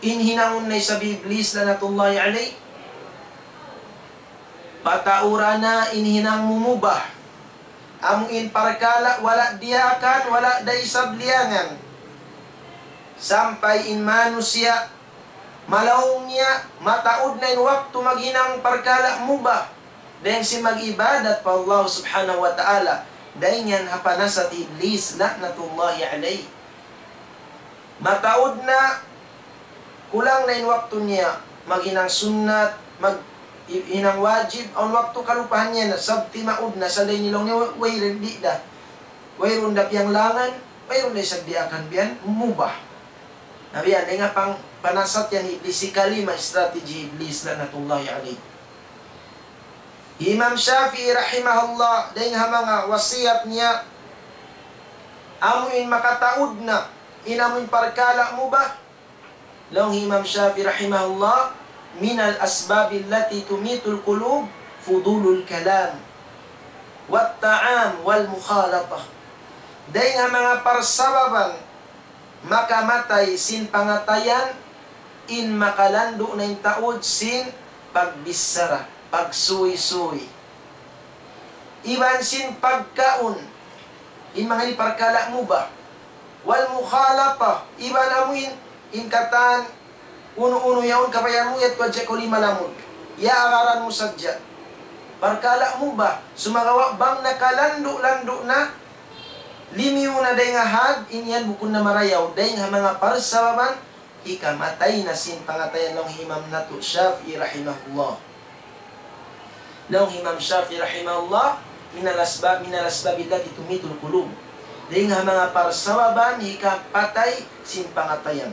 In hinangun na isab hi Iblis la'natullahi alayh, pataura na in hinang mumubah. Amu in parkala' wala' diyaakan, wala' da isab liyangan. Sampay in manusiya', malaung niya, mataud na in waktu maghinang parkala' mubah. Dayn sin mag-ibadat pa Allah Subhanahu wa Ta'ala. Dayn yan ha panasat hi Iblis, la'natullahi alayh. Mataud na Kulang na in waktu niya, maghinang sunnat, mag-, i-, hinang wajib, awn waktu kalupahan niya na, sabab timaud na, sa' laung niya, way, wayruun, di' da. Wayruun da piyanglangan, wayruun da isab diyaakan biyan, mubah. Na biyan, dayn ha pang-, panasat yan Iblis, hikali ma strategy Iblis, la'natullahi alayh. Imam Shafi'i rahimahullah, dayn ha manga wasiyat niya, amu in makataud na, in amu in parkala' mubah, laung Imam Shafi'i rahimahullah, من الأسباب التي تميت القلوب فضول الكلام والطعام والمخالطة. Dayn ha manga parsababan makamatay sin pangatayan, in makalandu' na in taud sin pagbichara, pagsuysuy. Iban sin pagkaun, in manga ini parkala' mubah. والمخالطة, iban amu in, in katan unu-unu yaun kabayaan mu, yadtu hadja kaw limalamud. Yaagaran mu sadja. Parkala' mubah, sumagawa' bang nakalandu'-landu' na, limiyu na dayn ha had, in yan bukun na marayaw, dayn ha manga parsababan, hikamatay na sin pangatayan laung Imam natu' Shafi'i rahimahullah. Laung Imam Shafi'i rahimahullah, من الأسباب، من الأسباب التي تميت القلوب. Dayn ha manga parsababan hikapatay sin pangatayan.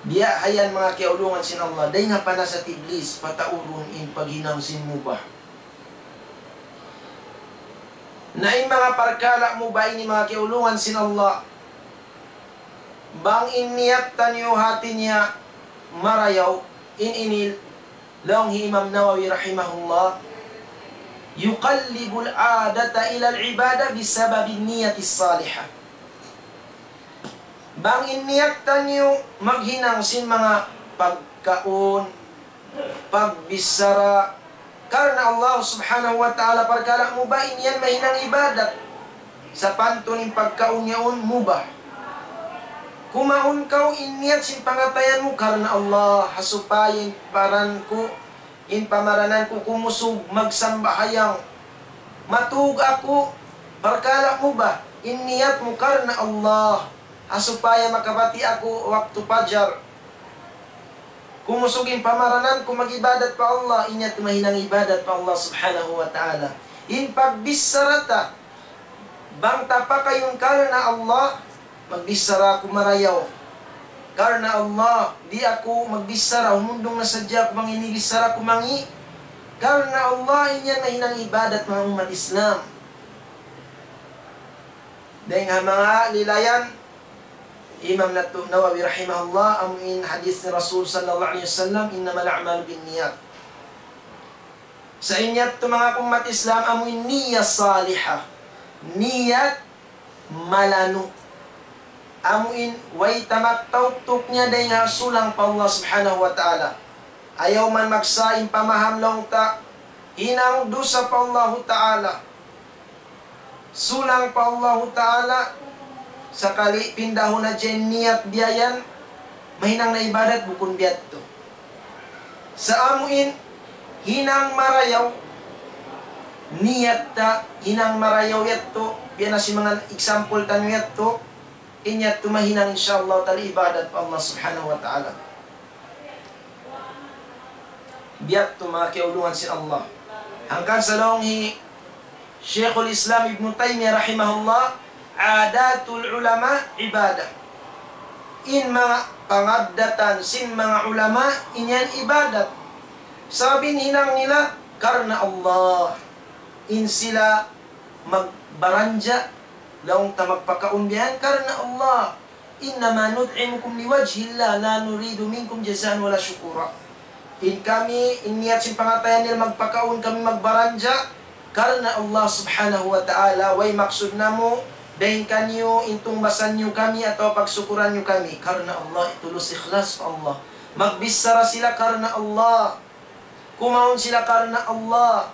Biya' ha yan manga kiyaulungan sin Allah, dayn ha panasat Iblis, pataurun in paghinang sin mubah. Na in manga parkala' mubah ini manga kiyaulungan sin Allah, bang in niyat taniyu hati niya marayaw, in ini laung hi Imam Nawawi rahimahullah, يقلب العادة إلى العبادة بسبب النية الصالحة. Bang in niyat taniyu maghinang sin manga pagkaun, pagbichara, karna' Allah Subhanahu wa Ta'ala, parkala' mubah in yan mahinang ibadat. Sapantun in pagkaun yaun mubah. Kumaun kaw in niyat sin pangatayan mu karna' Allah, ha supaya in paran ku, in pamaranan ku kumusug magsambahayang. Matug aku, parkala' mubah, in niyat mu karna' Allah, ha supaya makabati' aku waktu pajar. Kumusug in pamaranan ku mag-ibadat pa Allah, in yadtu mahinang ibadat pa Allah Subhanahu wa Ta'ala. In pagbichara ta, bang ta pakayun karna' Allah, magbichara aku marayaw. Karna' Allah, di' aku magbichara, humundung na sadja aku bang in bichara ku mangi'. Karna' Allah, in yan mahinang ibadat, manga ummat Islam. Dayn ha manga lilayan, Imam natu' Nawawi rahimahullah, amu in hadith ni Rasul sallallahu alayhi wasallam, إنما الأعمال بالنيات. Sa' in yadtu manga ummat Islam, amu in niyat salihah. Niyat malanu'. Amu in way tamak tauktuk niya dayn ha sulang pa Allah Subhanahu wa Ta'ala. Ayaw man maksa in pamaham laung ta, hinang dusa pa Allahu Ta'ala. Sulang pa Allahu Ta'ala, sakali pindahun na dyan niyat biya' yan, mahinang na ibadat bukun biya' yadtu. Sa' amu in hinang marayaw, niyat ta hinang marayaw yadtu, biya' na sin manga example taniyu yadtu, in yadtu mahinang insya Allah ta'ala ibadat pa Allah Subhanahu wa Ta'ala. Biya' yadtu manga kiyaulungan sin Allah. Hangkan sa laung hi Shaykhul Islam Ibn Taymiyyah rahimahullah, عادات العلماء عبادة. In manga pangaddatan sin manga ulama, in yan ibadat. Sabab in hinang nila karna' Allah. In sila magbaranja, laung ta magpakaun biya' yan karna' Allah. إنما نطعمكم لوجه الله لا نريد منكم جزاء ولا شكورا. In kami, in niyat sin pangatayan nila magpakaun kami magbaranja, karna' Allah Subhanahu wa Ta'ala, way maksud namu', dayn kaniyu, in tungbasan niyu kami, atawa pagsukuran niyu kami, karna' Allah, tulus ikhlas pa Allah. Magbichara sila karna' Allah. Kumaun sila karna' Allah.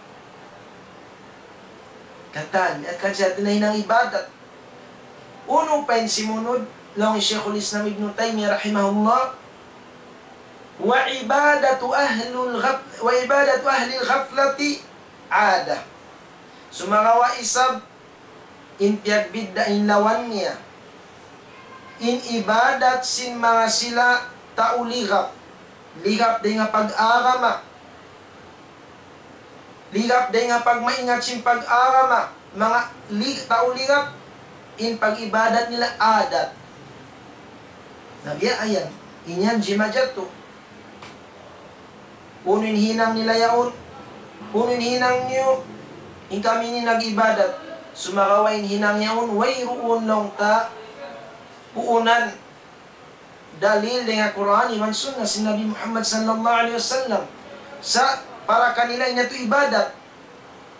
Katan, at kajat na hinang ibadat. Unu pa in simunud, laung Shaykhul Islam Ibn Taymiyyah rahimahullah, وعبادة أهل الغف-، وعبادة أهل الغفلة عادة. Sumagawa' isab in piyagbidda' in lawan niya. In ibadat sin manga sila tau ligap. Ligap dayn ha pag-agama. Ligap dayn ha pagmaingat sin pag-agama. Manga li-, tau ligap, in pag-ibadat nila adat. Na biya' yan, in yan jimajatu. Unu in hinang nila yaun, unu in hinang niyu, in kami ini nag-ibadat. Sumagawa' in hinang yaun, wayruun laung ta, puunan, dalil dayn ha Qur'an iban Sunnah sin Nabi Muhammad sallallahu alayhi wasallam. Sa' para kanila in yadtu ibadat.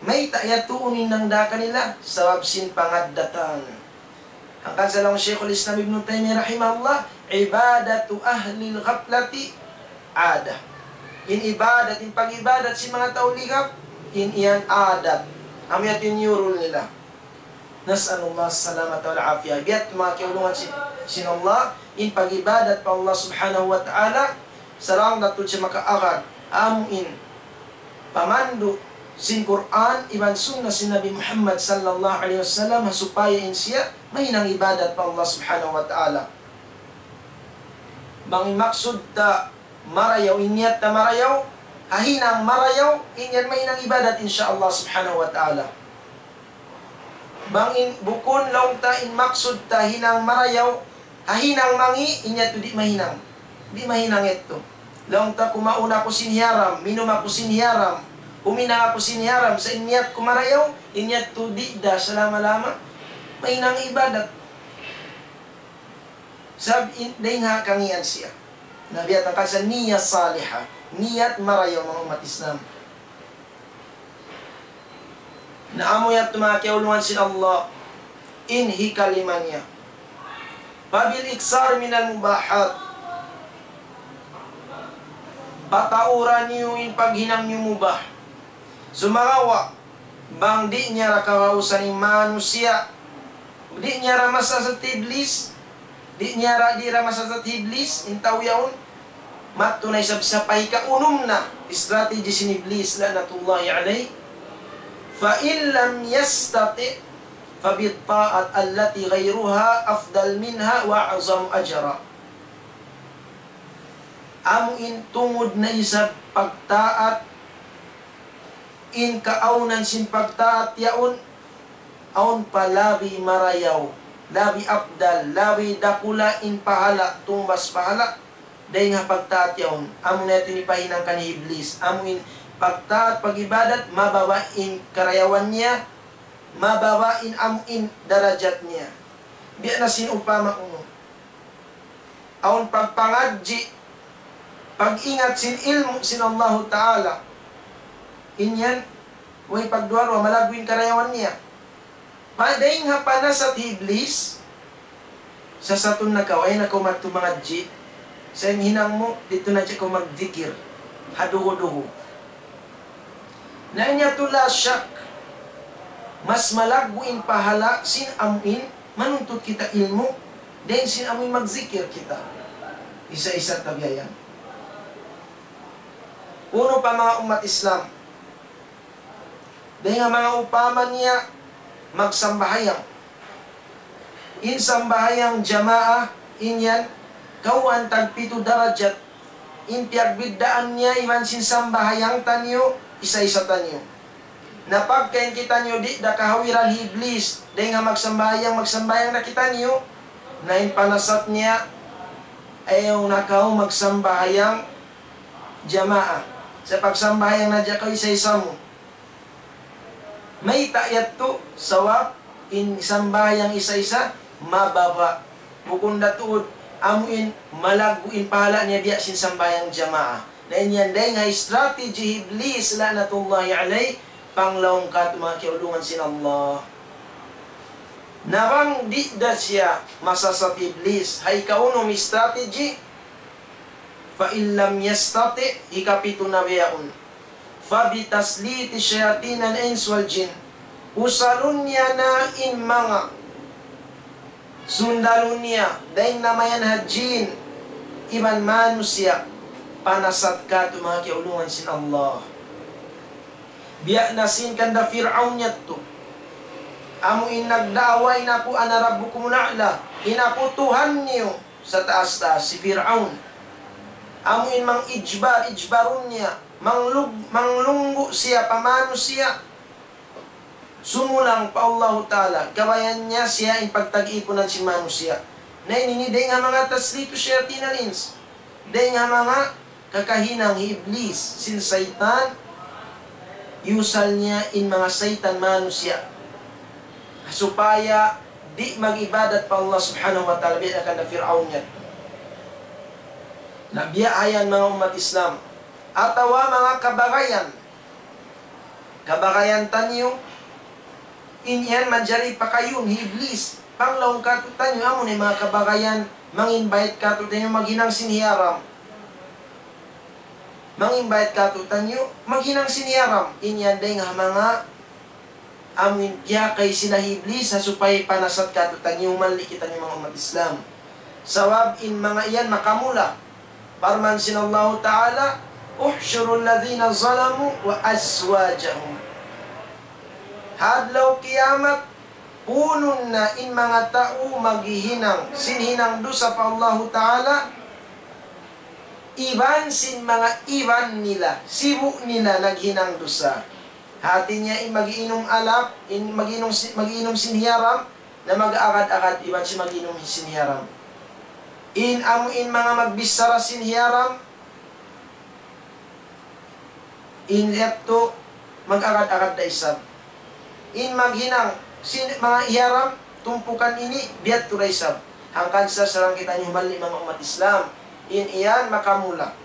Mayta' yadtu in hinang da kanila? Sabab sin pangaddatan. Hangkan sa laung Shaykhul Islam Ibn Taymiyyah rahimahullah, عبادة أهل الغفلة عادة. In ibadat, in pag-ibadat sin manga tau ligap, in yan adat. Amu yadtu in yurul nila. نسأل الله السلامة والعافية. Biya' manga kiyaulungan sin, sin Allah, in pag-ibadat pa Allah Subhanahu wa Ta'ala, sarang datud siya makaagad, amu in pamandu' sin Qur'an iban Sunnah sin Nabi Muhammad sallallahu alayhi wasallam, supaya in siya mahinang ibadat pa Allah Subhanahu wa Ta'ala. Bang in maksud ta marayaw, in niyat ta marayaw, ha hinang marayaw, in yan mahinang ibadat, insya Allah Subhanahu wa Ta'ala. Bang in bukun laung ta in maksud ta hinang marayaw, ha hinang mangi', in yadtu di' mahinang. Di' mahinang yadtu. Laung ta kumaun aku sin hiyaram, minum aku sin hiyaram, huminang aku sin hiyaram, sa' in niyat ku marayaw, in yadtu di' da salama-lama mahinang ibadat. Sabab in, dayn ha kangian siya. Na biya' hangkan sa niyat salihah, niyat marayaw, manga ummat Islam. Na amu yadtu manga kiyaulungan sin Allah, in hikalima niya. فبالإكثار من المباحات. Patauran niyu in paghinang niyu mubah. Sumagawa', bang di' niya ra kagausan in manusiya', di' niya ra masasat Iblis, di' niya ra, di' ra masasat Iblis, in tau yaun, madtu na isab sa pa hikaunum na strategy sin Iblis, لعنة الله عليه. فإن لم يستطع فبالطاعة التي غيرها أفضل منها وأعظم أجرا. Amu in tungud na isab pagtaat, in kaawnan sin pagtaat yaun, awn pa labi marayaw, labi afdal, labi dakula' in pahala', tungbas pahala', dayn ha pagtaat yaun. Amu na yadtu in hipahinang kan Iblis. Amu in pagtaat, pag-ibadat, mababa' in karayawan niya, mababa' in amu in darajat niya. Biya' na sin upama unu. Awn pagpangadji', pag-ingat sin ilmu' sin Allahu Ta'ala. In yan, way pagduwa-ruwa, malaggu' in karayawan niya. Pa-, dayn ha panasat hi Iblis, sasatun na kaw, ayaw na kaw madtu mangadji'. Sa' in hinang mu, didtu na hadja kaw magdikir. Ha duhu-duhu. Na in yadtu la shak, mas malaggu' in pahala' sin amu in manuntut kita ilmu', dayn sin amu in magzikir kita. Isa-isa ta biya' yan. Unu pa manga ummat Islam, dayn ha manga upama niya magsambahayang. In sambahayang jamaa, in yan, kawhaan tagpitu darajat. In piyagbiddaan niya iban sin sambahayang taniyu, isa-isa taniyu. Na pagka in kitaniyu di' da kahawiran hi Iblis, dayn ha magsambahayang, magsambahayang da kitaniyu, na in panasat niya, ayaw na kaw magsambahayang jamaa. Sa' pagsambahayang na hadja kaw isa-isa mu. Mayta' yadtu? Sabab in sambahayang isa-isa, mababa'. Bukun da tuud, amu in malaggu' in pahala' niya biya' sin sambahayang jamaa. Na in yan dayn ha strategy hi Iblis, la'natullahi alayh, panglaung katu' manga kiyaulungan sin Allah. Na bang di' da siya masasat hi Iblis, ha ikaunum strategy, فإن لم يستطع, hikapitu na bihaun. فبتسليط الشياطين الإنس والجن. Usalun niya na in manga sundalu niya, dayn na mayan ha jin iban manusiya', panasat katu' manga kiyaulungan sin Allah. Biya' na sin kan da Fir'aun yadtu. Amu in nagda'wa in aku أنا ربكم الأعلى, in aku Tuhan niyu sa taas-taas, hi Fir'aun. Amu in mang-ijbar, ijbarun niya, manglug-, manglunggu' siya pa manusiya'. Sumulang pa Allahu Ta'ala, kabayaan niya siya in pagtag-ipunan sin manusiya'. Na ini dayn ha manga تسليط شياطين الإنس. Dayn ha manga kakahinang hi Iblis sin saytan, iyusal niya in manga saytan manusiya'. Supaya di' mag-ibadat pa Allah Subhanahu wa Ta'ala, biya' na kan Fir'aun yan. Na biya' ha yan manga ummat Islam. Atawa manga kabagayan. Kabagayan taniyu, in yan manjari pakayun hi Iblis. Panglaung kātu'niyu, amu na in manga kabagayan, mang-invite kātu'niyu, maghinang sin hiyaram. Mang-invite kātu'niyu, maghinang sin hiyaram. In yan dayn ha manga amu in piyakay sila hi Iblis, ha supaya panasat kātu'niyu, humalli' kitaniyu manga ummat Islam. Sabab in manga yan makamula. Parman sin Allahu Ta'ala, احشروا الذين ظلموا وأزواجهم. Ha adlaw kiyamat, punun na in manga tau maghihinang sin hinang dusa pa Allahu Ta'ala, iban sin manga iban nila, sibu' nila naghinang dusa. Hati niya in mag-iinum alak, in mag-iinum si-, mag-iinum sin hiyaram, na mag-agad-agad iban sin mag-iinum sin hiyaram. In amu in manga magbichara sin hiyaram, in yadtu mag-agad-agad da isab. In maghinang sin manga hiyaram, tumpukan ini, biyadtu da isab. Hangkan sa sarang kitaniyu humalli' manga ummat Islam. In yan makamula.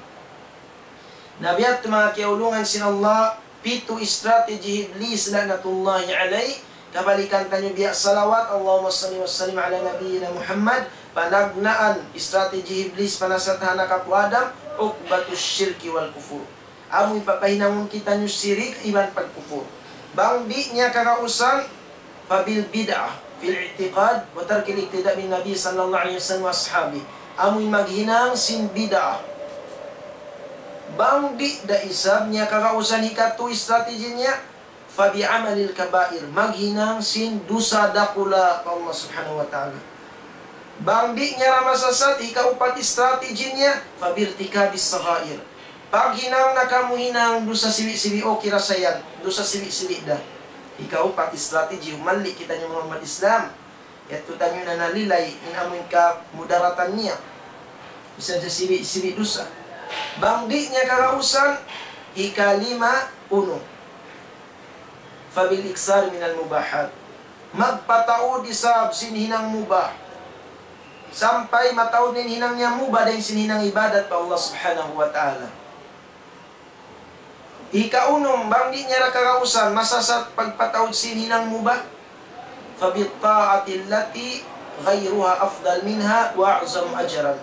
Na biya' ha yan manga kiyaulungan sin Allah, pitu strategy hi Iblis la'natullahi alayh. Kabalikan taniyu biya' salawat, اللهم صل وسلم على نبينا محمد. Panagnaan strategy hi Iblis panasat ha anak apu' Adam, عقبة الشرك والكفر. Amu in papahinangun kitaniyu sirik iban pagkupur. Bang di' niya kagausan, فبالبدعة في الاعتقاد وترك الاقتداء بالنبي صلى الله عليه وسلم وأصحابه. Amu in maghinang sin bid'ah. Bang di' da isab niya kagausan, hikatu strategy niya, فبعمل الكبائر. Maghinang sin dusa dakula' pa Allah Subhanahu wa Ta'ala. Bang di' niya da masasat, hikaupat strategy niya, فبارتكاب الصغائر. Paghinang na kamu hinang dusa sibi'-sibi', okay ra sa yan, dusa sibi'-sibi' da. Hikaupat strategy, humalli' kitaniyu manga ummat Islam. Yadtu taniyu na nalilay in amu in kamudaratan niya. Bisan sa sibi'-sibi' dusa. Bang di' niya kagausan, hikalima, unu. فبالإكثار من المباحات. Magpataud isab sin hinang mubah. Sampay mataud in hinang niya mubah dayn sin hinang ibadat pa Allah Subhanahu wa Ta'ala. Hikaunum, bang di' niya da kagausan, masasat pagpataud sin hinang mubah. فبالطاعة التي غيرها أفضل منها وأعظم أجرا.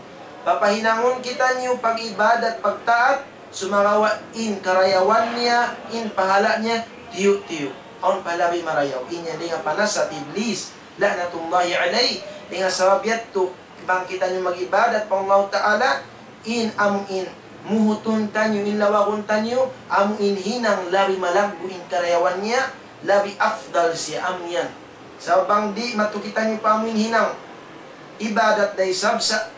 Papahinangun kitaniyu pag-ibadat, pagtaat, sumagawa' in karayawan niya, in pahala' niya, tiyu'-tiyu'. Awn pa labi marayaw. In yan dayn ha panasat hi Iblis, la'natullahi alayh. Dayn ha sabab yadtu, bang kitaniyu mag-ibadat pa Allah Ta'ala, in amu in muhutun taniyu, in lawagun taniyu, amu in hinang labi malaggu' in karayawan niya, labi afdal siya, amu yan. Sabab bang di' matu kitaniyu pa amu in hinang ibadat da isab sa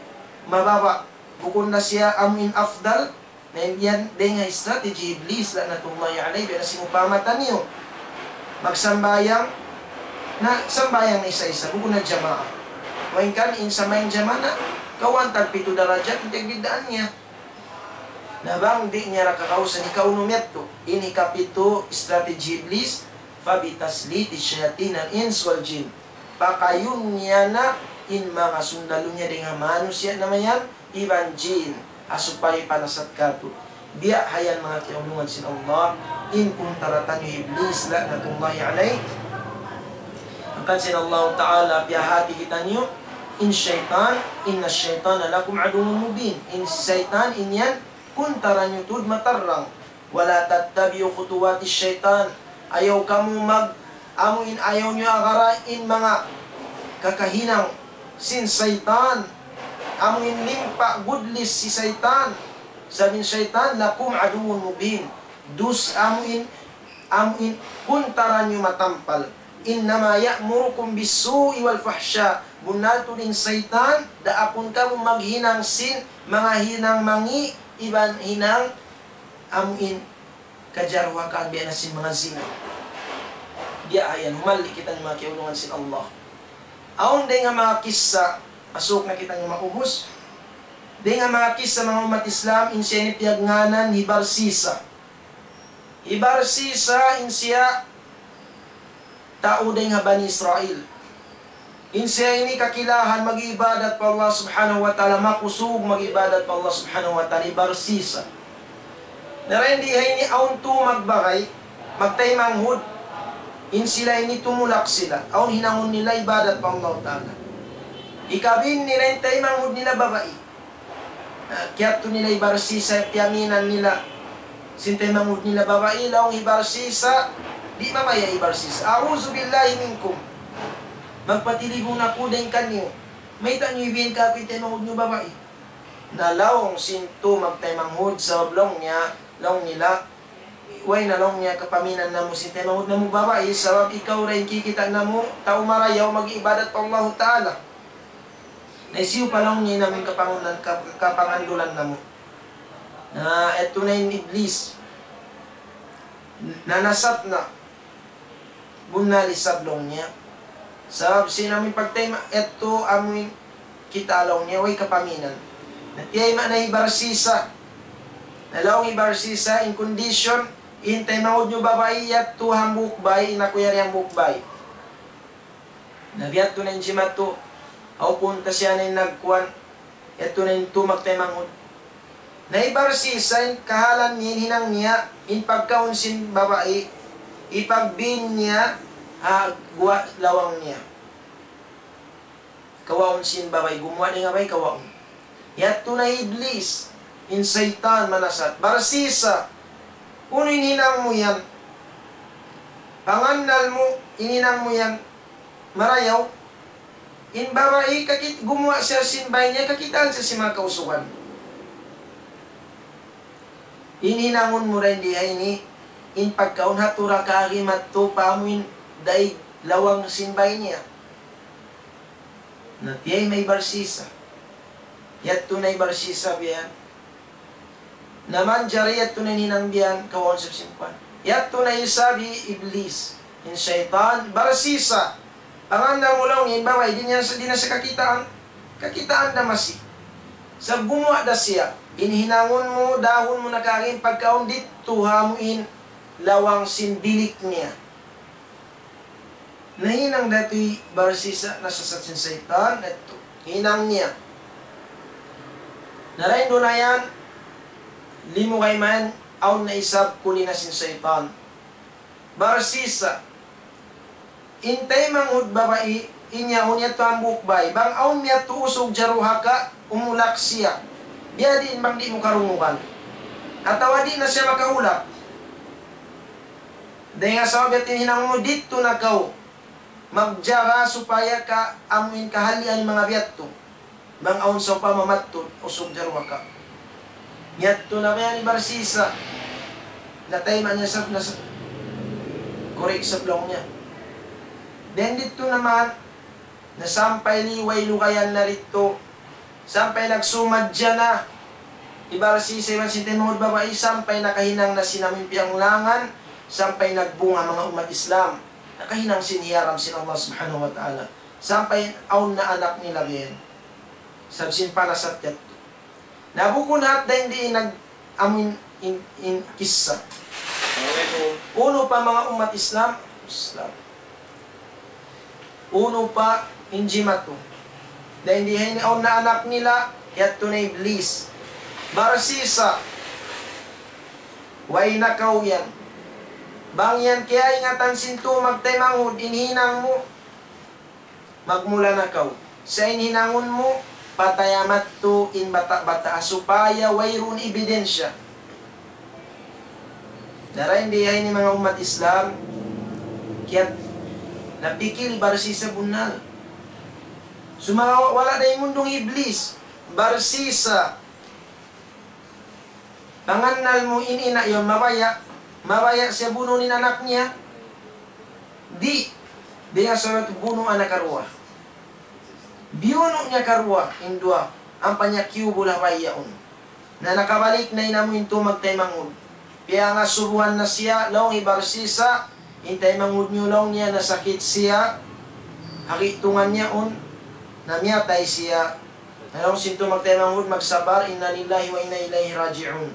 mababa', bukun na siya amu in afdal, na yan dayn ha strategy Iblis, la'natullahi alayh. Biya' na sin upama taniyu magsambahayang, na sambahayang na isa-isa, bukun na jamaa. Wa in kan in sambahayang jamaa na, kawhaan tagpitu darajat, in pagbiddaan niya. Na bang di' niya da kagausan, hikaunum yadtu. In hikapitu strategy Iblis, فبتسليط الشياطين الإنس والجن. Pakayun niya na in manga sundalu niya dayn ha manusiya' namayan iban jin, ha supaya panasat katu'. Biya' ha yan manga kiyaulungan sin Allah, in kuntara taniyu hi Iblis, la'natullahi alayh. Hangkan sin Allah Ta'ala, piyahāti kitaniyu, in saytan, إن الشيطان لكم عدو مبين. In saytan, in yan, kuntara niyu tuud matarrang. ولا تتبعوا خطوات الشيطان. Ayaw kamu mag-, amu in ayaw niyu agara in manga kakahinang sin saytan. Amu in limpa gudlis sin saytan. Sabab in saytan, لكم عدو مبين. Dus amu in, amu in kuntara niyu matampal. إنما يأمركم بالسوء والفحشاء. Bunnal tuud in saytan, daakun kamu maghinang sin manga hinang mangi' iban hinang amuin kajaruhakan biya' na sin manga zina. Biya' yan, humali kita manga kiyaulungan sin Allah. Awn dayn ha manga kissa, asuuk na kita maubus. Dayn ha manga kissa manga ummat Islam, in siya ini piyagngānan hi Barsisa. Hi Barsisa in siya tau dayn ha Bani Israil. In siya ini kakilahan mag-ibadat pa Allah Subhanahu wa Ta'ala, makusug mag-ibadat pa Allah Subhanahu wa Ta'ala, hi Barsisa. Na dayn di ha ini awn tu magbagay, magtaymanghud, in sila ini tumulak sila, awn hinangun nila ibadat pa Allah Ta'ala. Ikabin nila in taymanghud nila babai. Ah, kiyadtu nila hi Barsisa, piyaminan nila sin taymanghud nila babai, laung hi Barsisa, di' mabaya' hi Barsisa. أعوذ بالله منكم. Magpatiligun aku dayn kaniyu. Mayta' niyu ibiyan kāku' in taymanghud niyu babai? Na laung sin tu magtaymanghud, sabab laung niya, laung nila, way na laung niya kapaminan namu' sin taymanghud namu' babai, sabab ikaw da in kikita' namu' tau marayaw mag-ibadat pa Allahu Ta'ala. Na hisiyu pa laung niya in amuin kapangunan-, kap-, kapangandulan namu'. Na yadtu na in Iblis. Na nasat na. Bunnal isab laung niya. Sabab sin amuin pagtayma-, yadtu amuin kita' laung niya, way kapaminan. Na tiyayma' na hi Barsisa. Na laung hi Barsisa, in condition, in taymanghud niyu babai, yadtu hambuuk bay, in aku yari hambuuk bay. Na biya' yadtu na in jimatu, aw punta siya na in nagkuan, yadtu na in tu magtaymanghud. Na hi Barsisa in kahalan niya, in hinang niya, in pagkaun sin babai, ipagbin niya ha guwa' lawang niya. Kawaun sin babai, gumuwa' dayn ha bay, kawaun. Yadtu na Iblis, in saytan manasat. Barsisa, unu in hinang mu yan? Pangannal mu, in hinang mu yan marayaw. In babai, kakit-, gumuwa' siya sin bay niya, kakitaan siya sin manga kausugan. In hinangun mu dayn di ha ini, in pagkaun ha tu raka'a madtu pa amuin daig lawang sin bay niya. Na tiyayma' hi Barsisa. Yadtu na hi Barsisa biya' yan. Na manjari yadtu na in hinang biya' yan, kawaun isab sin kuwan. Yadtu na isab hi Iblis, in saytan, Barsisa. Pangannal mu laung in babai, di' niya sa-, di' na siya kakitaan. Kakitaan da masi. Sa' gumuwa' da siya. In hinangun mu, dahun mu na kari in pagkaun didtu ha amuin lawang sin bilik niya. Nahinang da tuud hi Barsisa, nasasat sin saytan, yadtu. Hinang niya. Na dayn duun na yan, limugay mayan, awn na isab kuli na sin saytan. Barsisa, in taymanghud babai, in yaun yadtu hambuuk bay. Bang awn miyadtu usug jaruhaka, umulak siya. Biya' diin bang di' mu karungugan. Atawa di' na siya makaulak. Dayn ha sabab yadtu in hinang mu didtu na kaw magjaga supaya ka amuin kahalian in manga biya' yadtu. Bang awn sawpama madtu usug jaruhaka. Miyadtu na biya' yan hi Barsisa. Natayma' niya sab, nas-, correct sab laung niya. Then didtu naman, na sampay liway lugayan na didtu. Sampay nagsumadja na hi Barsisa iban sin taymanghud babai, sampay nakahinang na sin amuin piyanglangan, sampay nagbunga manga ummat Islam. Nakahinang sin hiyaram sin Allah Subhanahu wa Ta'ala. Sampay awn na anak nila biya' yan. Sabab sin panasat yadtu. Na bukun hat dayn di in nag-, amuin in, in kissa. Assalamualaikum. Unu pa manga ummat Islam? Islam. Unu pa in jimatu. Dayn di ha ini awn na anak nila, yadtu na Iblis. Barsisa. Way na kaw yan. Bang yan kiyaingatan sin tu magtaymanghud in hinang mu, magmula na kaw. Sa' in hinangun mu, pataya madtu in bata'-bata' supaya wayruun ebidensya. Na dayn di ha ini manga ummat Islam, kiyat-, napikil hi Barsisa bunnal. Sumagawa' wala' da imundung hi Iblis, Barsisa. Pangannal mu in ina' yaun mabaya', mabaya' siya bunun in anak niya? Di'. Dayn ha sabab bunu' na karuwa. Biyunu' niya karuwa in duwa, ampa niya kiyubul ha bay yaun. Na nakabalik na in amu in tau magtaymanghud. Piyangasubuhan na siya, laung hi Barsisa, in taymanghud niyu laung niya nasakit siya, ha gi'tungan niya yaun, na miyatay siya. Na laung sin tau magtaymanghud magsabar, إنا لله وإنا إليه راجعون.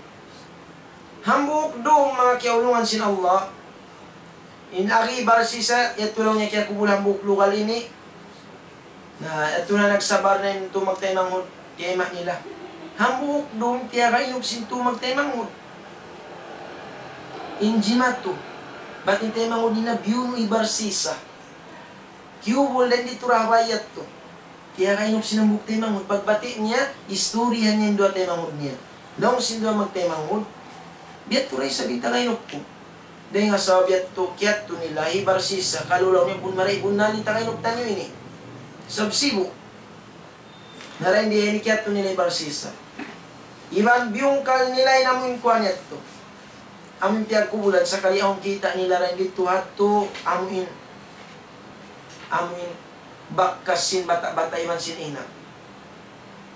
Hambuuk dum manga kiyaulungan sin Allah. In agi Barsisa, yadtu laung niya kiyakubul hambuuk lugal ini. Na, yadtu na nagsabar na in tau magtaymanghud, kiyayma' nila. Hambuuk dum, tiyagainup sin tau magtaymanghud. In jimatu. Bat in taymanghud nila biyunu' hi Barsisa. Kiyubul dayn didtu ha bay yadtu. Tiyagainup sin hambuuk taymanghud. Pagbati' niya, istoryahan niya in duwa taymanghud niya. Laung sin duwa magtaymanghud, biya' tuud da isab in tagainup ku. Dayn ha sabab yadtu, kiyadtu nila hi Barsisa, kalu laung niya bun marayaw bunnal in tagainup taniyu ini. Sabab sibu'. Na dayn di ini kiyadtu nila hi Barsisa. Iban biyungkal nila in amu in kuwan yadtu. Amu in piyagkubulan, sakali awn kita' nila dayn didtu hadtu, amu in, amu in bakas sin bata'-bata' iban sin ina'.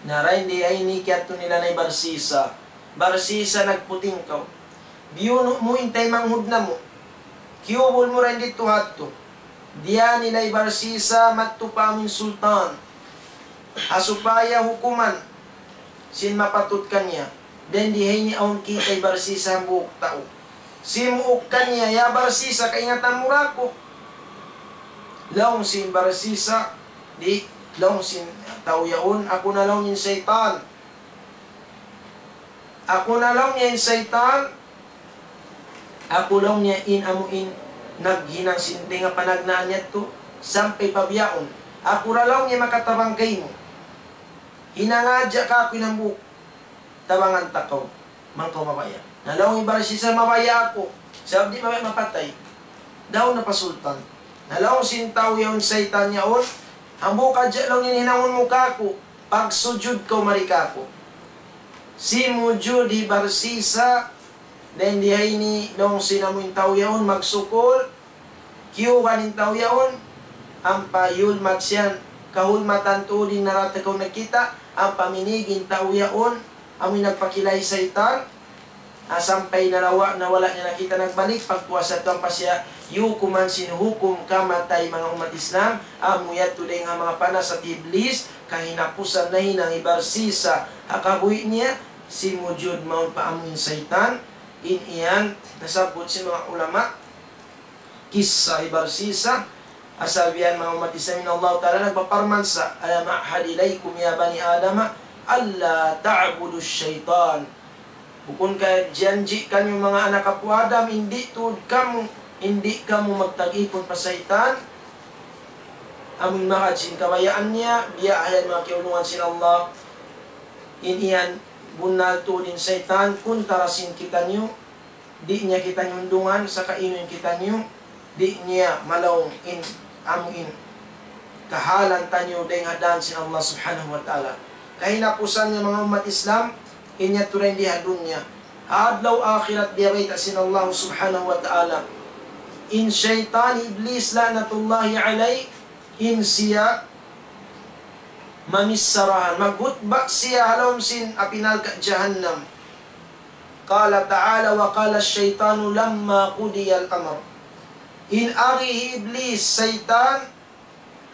Na dayn di ini kiyadtu nila na hi Barsisa. Barsisa, nagputing kaw. Biyunu' mu in taymanghud namu'. Kiyubul mu dayn didtu hadtu. Diyā nila hi Barsisa madtu pa amu in sultan. Ha supaya hukuman sin mapatut kaniya. Dayn di ha ini awn kita' hi Barsisa hambuuk tau. Simuuk kaniya, "Ya Barsisa, kaingatan mu ra aku?" Laung sin Barsisa, di', laung sin tau yaun, "Aku na," laung niya, "in saytan. Aku na," laung niya, "in saytan. Aku," laung niya, "in amu in naghinang sin dayn ha panagnaan yadtu sampay pa bihaun. Aku ra," laung niya, "makatabang kaymu. Hinanga hadja kāku' in hambuuk tabangan ta kaw, bang kaw mabaya'." Na laung hi Barsisa, "Mabaya' aku, sabab di' mabaya' mapatay." Daun na pa sultan. Na laung sin tau yaun, saytan yaun, "Hambuuk hadja," laung niya, "in hinangun mu kāku', pagsujud kaw mari kāku'." Simujud hi Barsisa, dayn di ha ini laung sin amu in tau yaun magsukul, kiyugan in tau yaun, ampa yulmat siya, kahulmatan tuud in narata kaw nakita', ampa minig in tau yaun, amu in nagpakila' saytan, ah, sampay nalawa', na wala' niya nakita' nagbalik, pagpuas yadtu ampa siya yukuman sin hukum kamatay, manga ummat Islam, amu yadtu dayn ha manga panasat hi Iblis, kahinapusan nahinang hi Barsisa, ha kabuhi' niya, simujud mawn pa amu in saytan, in yan, nasabbut sin manga ulama, kissa hi Barsisa, asal biya' yan manga ummat Islam, in Allah Ta'ala nagpaparman sa, "ألم أعهد إليكم يا بني آدم ألا تعبدوا الشيطان." Bukun ka janji' kaniyu manga anak apu' Adam, in di' tuud kamu, in di' kamu magtag-ipun pa saytan. Amu in mahad sin kabayaan niya, biya' ha yan manga kiyaulungan sin Allah. In yan, bunnal tuud in saytan, kuntara sin kitaniyu, di' niya kitaniyu undungan, saka unu in kitaniyu, di' niya malaung in amu in kahalan taniyu dayn ha dān sin Allah Subhanahu wa Ta'ala. Kahinapusan niya manga ummat Islam, in yadtu dayn di ha dunya. Ha adlaw akhirat biya' bayta' sin Allah Subhanahu wa Ta'ala. In saytan Iblis la'natullahi alayh, in siya mamissarahan, maghutba siya ha lawm sin api narka' jahannam. قال تعالى: وقال الشيطان لما قضي الأمر. In agi hi Iblis, saytan,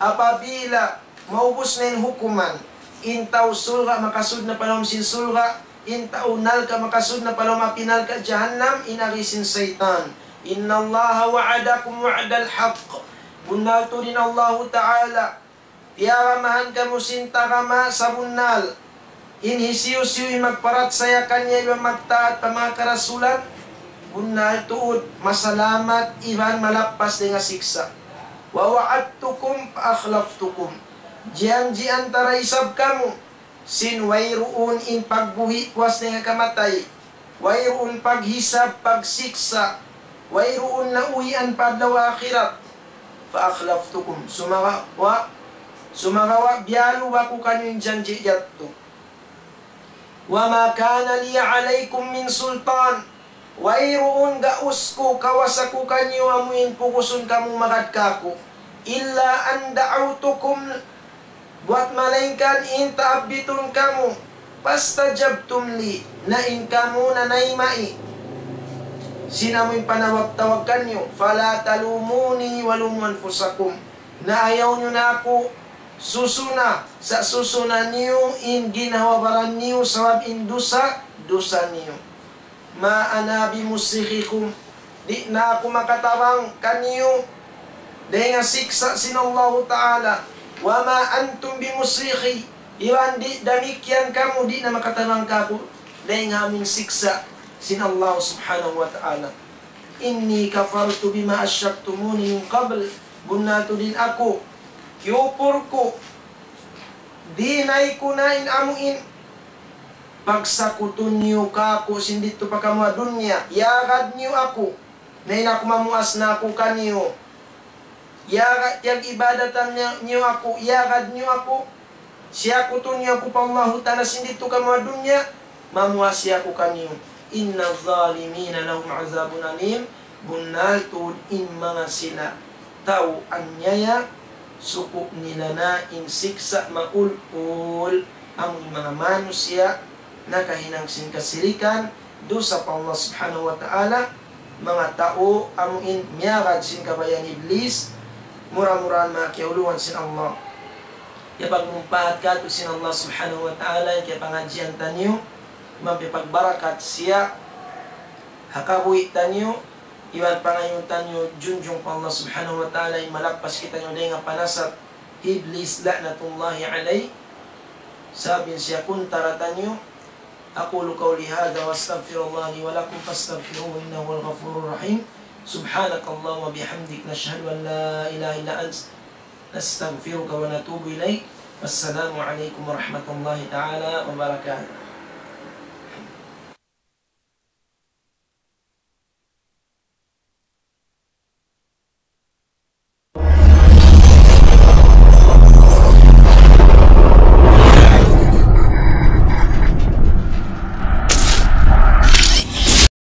apabila maubus na in hukuman, in tau surga' makasud na pa lawm sin surga', in tau narka' makasud na pa lawm api narka' jahannam, in agi sin saytan, إن الله وعدكم وعد الحق. Bunnal tuud in Allahu Ta'ala tiyagamahan kamu sin tagama sabunnal. In hisiyu-siyu in magparachaya kaniya iban magtaat pa manga karasulan, bunnal tuud masalamat iban malappas dayn ha siksa'. ووعدتكم فأخلفتكم. Janjian ta da isab kamu sin wayruun in pagbuhi' puas dayn ha kamatay. Wayruun paghisab, pagsiksa', wayruun nauhian pa adlaw akhirat. فأخلفتكم. Sumagawa', sumagawa' biyaluba ku kaniyu in janji' yadtu. وما كان لي عليكم من سلطان. Wayruun gaus ku, kawasa ku kaniyu amu in pugusun kamu magad kāku'. إلا أن دعوتكم, buwat malaingkan in taabitun kamu, فاستجبتم لي, na in kamu nanayma'i sin amu in panawag-tawag kaniyu, فلا تلوموني ولوموا أنفسكم, na ayaw niyu na aku susuna, sa' susuna niyu in ginhawa-baran niyu sabab in dusa, dusa niyu. ما أنا بمصرخكم, di' na aku makatabang kaniyu dayn ha siksa' sin Allahu Ta'ala. وما أنتم بمصرخي, iban di' damikkiyan kamu di' na makatabang kāku' dayn ha amu in siksa' sin Allah Subhanahu wa Ta'ala. إني كفرت بما أشركتموني من قبل, bunnal tuud in aku, kiyupur ku, dinay ku na in amu in pagsakutun niyu kāku' sin didtu pa kamu ha dunya, iyagad niyu aku, na in aku mamuas na aku kaniyu. Iyagad, piyag-ibadatan niyu, niyu aku, iyagad niyu aku, siyakutun niyu aku pa Allahu Ta'ala sin didtu kamu ha dunya, mamuas aku kaniyu. إن الظالمين لهم عذاب أليم, bunnal tuud in manga sila tau anyaya, suku' nila na in siksa' maul-ul, amu in manga manusiya' nakahinang sin kasirikan, dusa pa Allah Subhanahu wa Ta'ala, manga tau amu in miyagad sin kabayaan Iblis, mura-murahan manga kiyaulungan sin Allah. Iyapagmumpaat kātu' sin Allah Subhanahu wa Ta'ala in kiyapangadjian taniyu, iban piyagbarakat siya ha kabuhi' taniyu, iban pangayuun taniyu junjung pa Allah Subhanahu wa Ta'ala in malappas kitaniyu dayn ha panasat Iblis لعنة الله عليه, sabab in siya kuntara taniyu. أقول قولي هذا وأستغفر الله لي ولكم فاستغفروه إنه هو الغفور الرحيم. سبحانك اللهم وبحمدك، نشهد أن لا إله إلا أنت، نستغفرك ونتوب إليك. والسلام عليكم ورحمة الله تعالى وبركاته.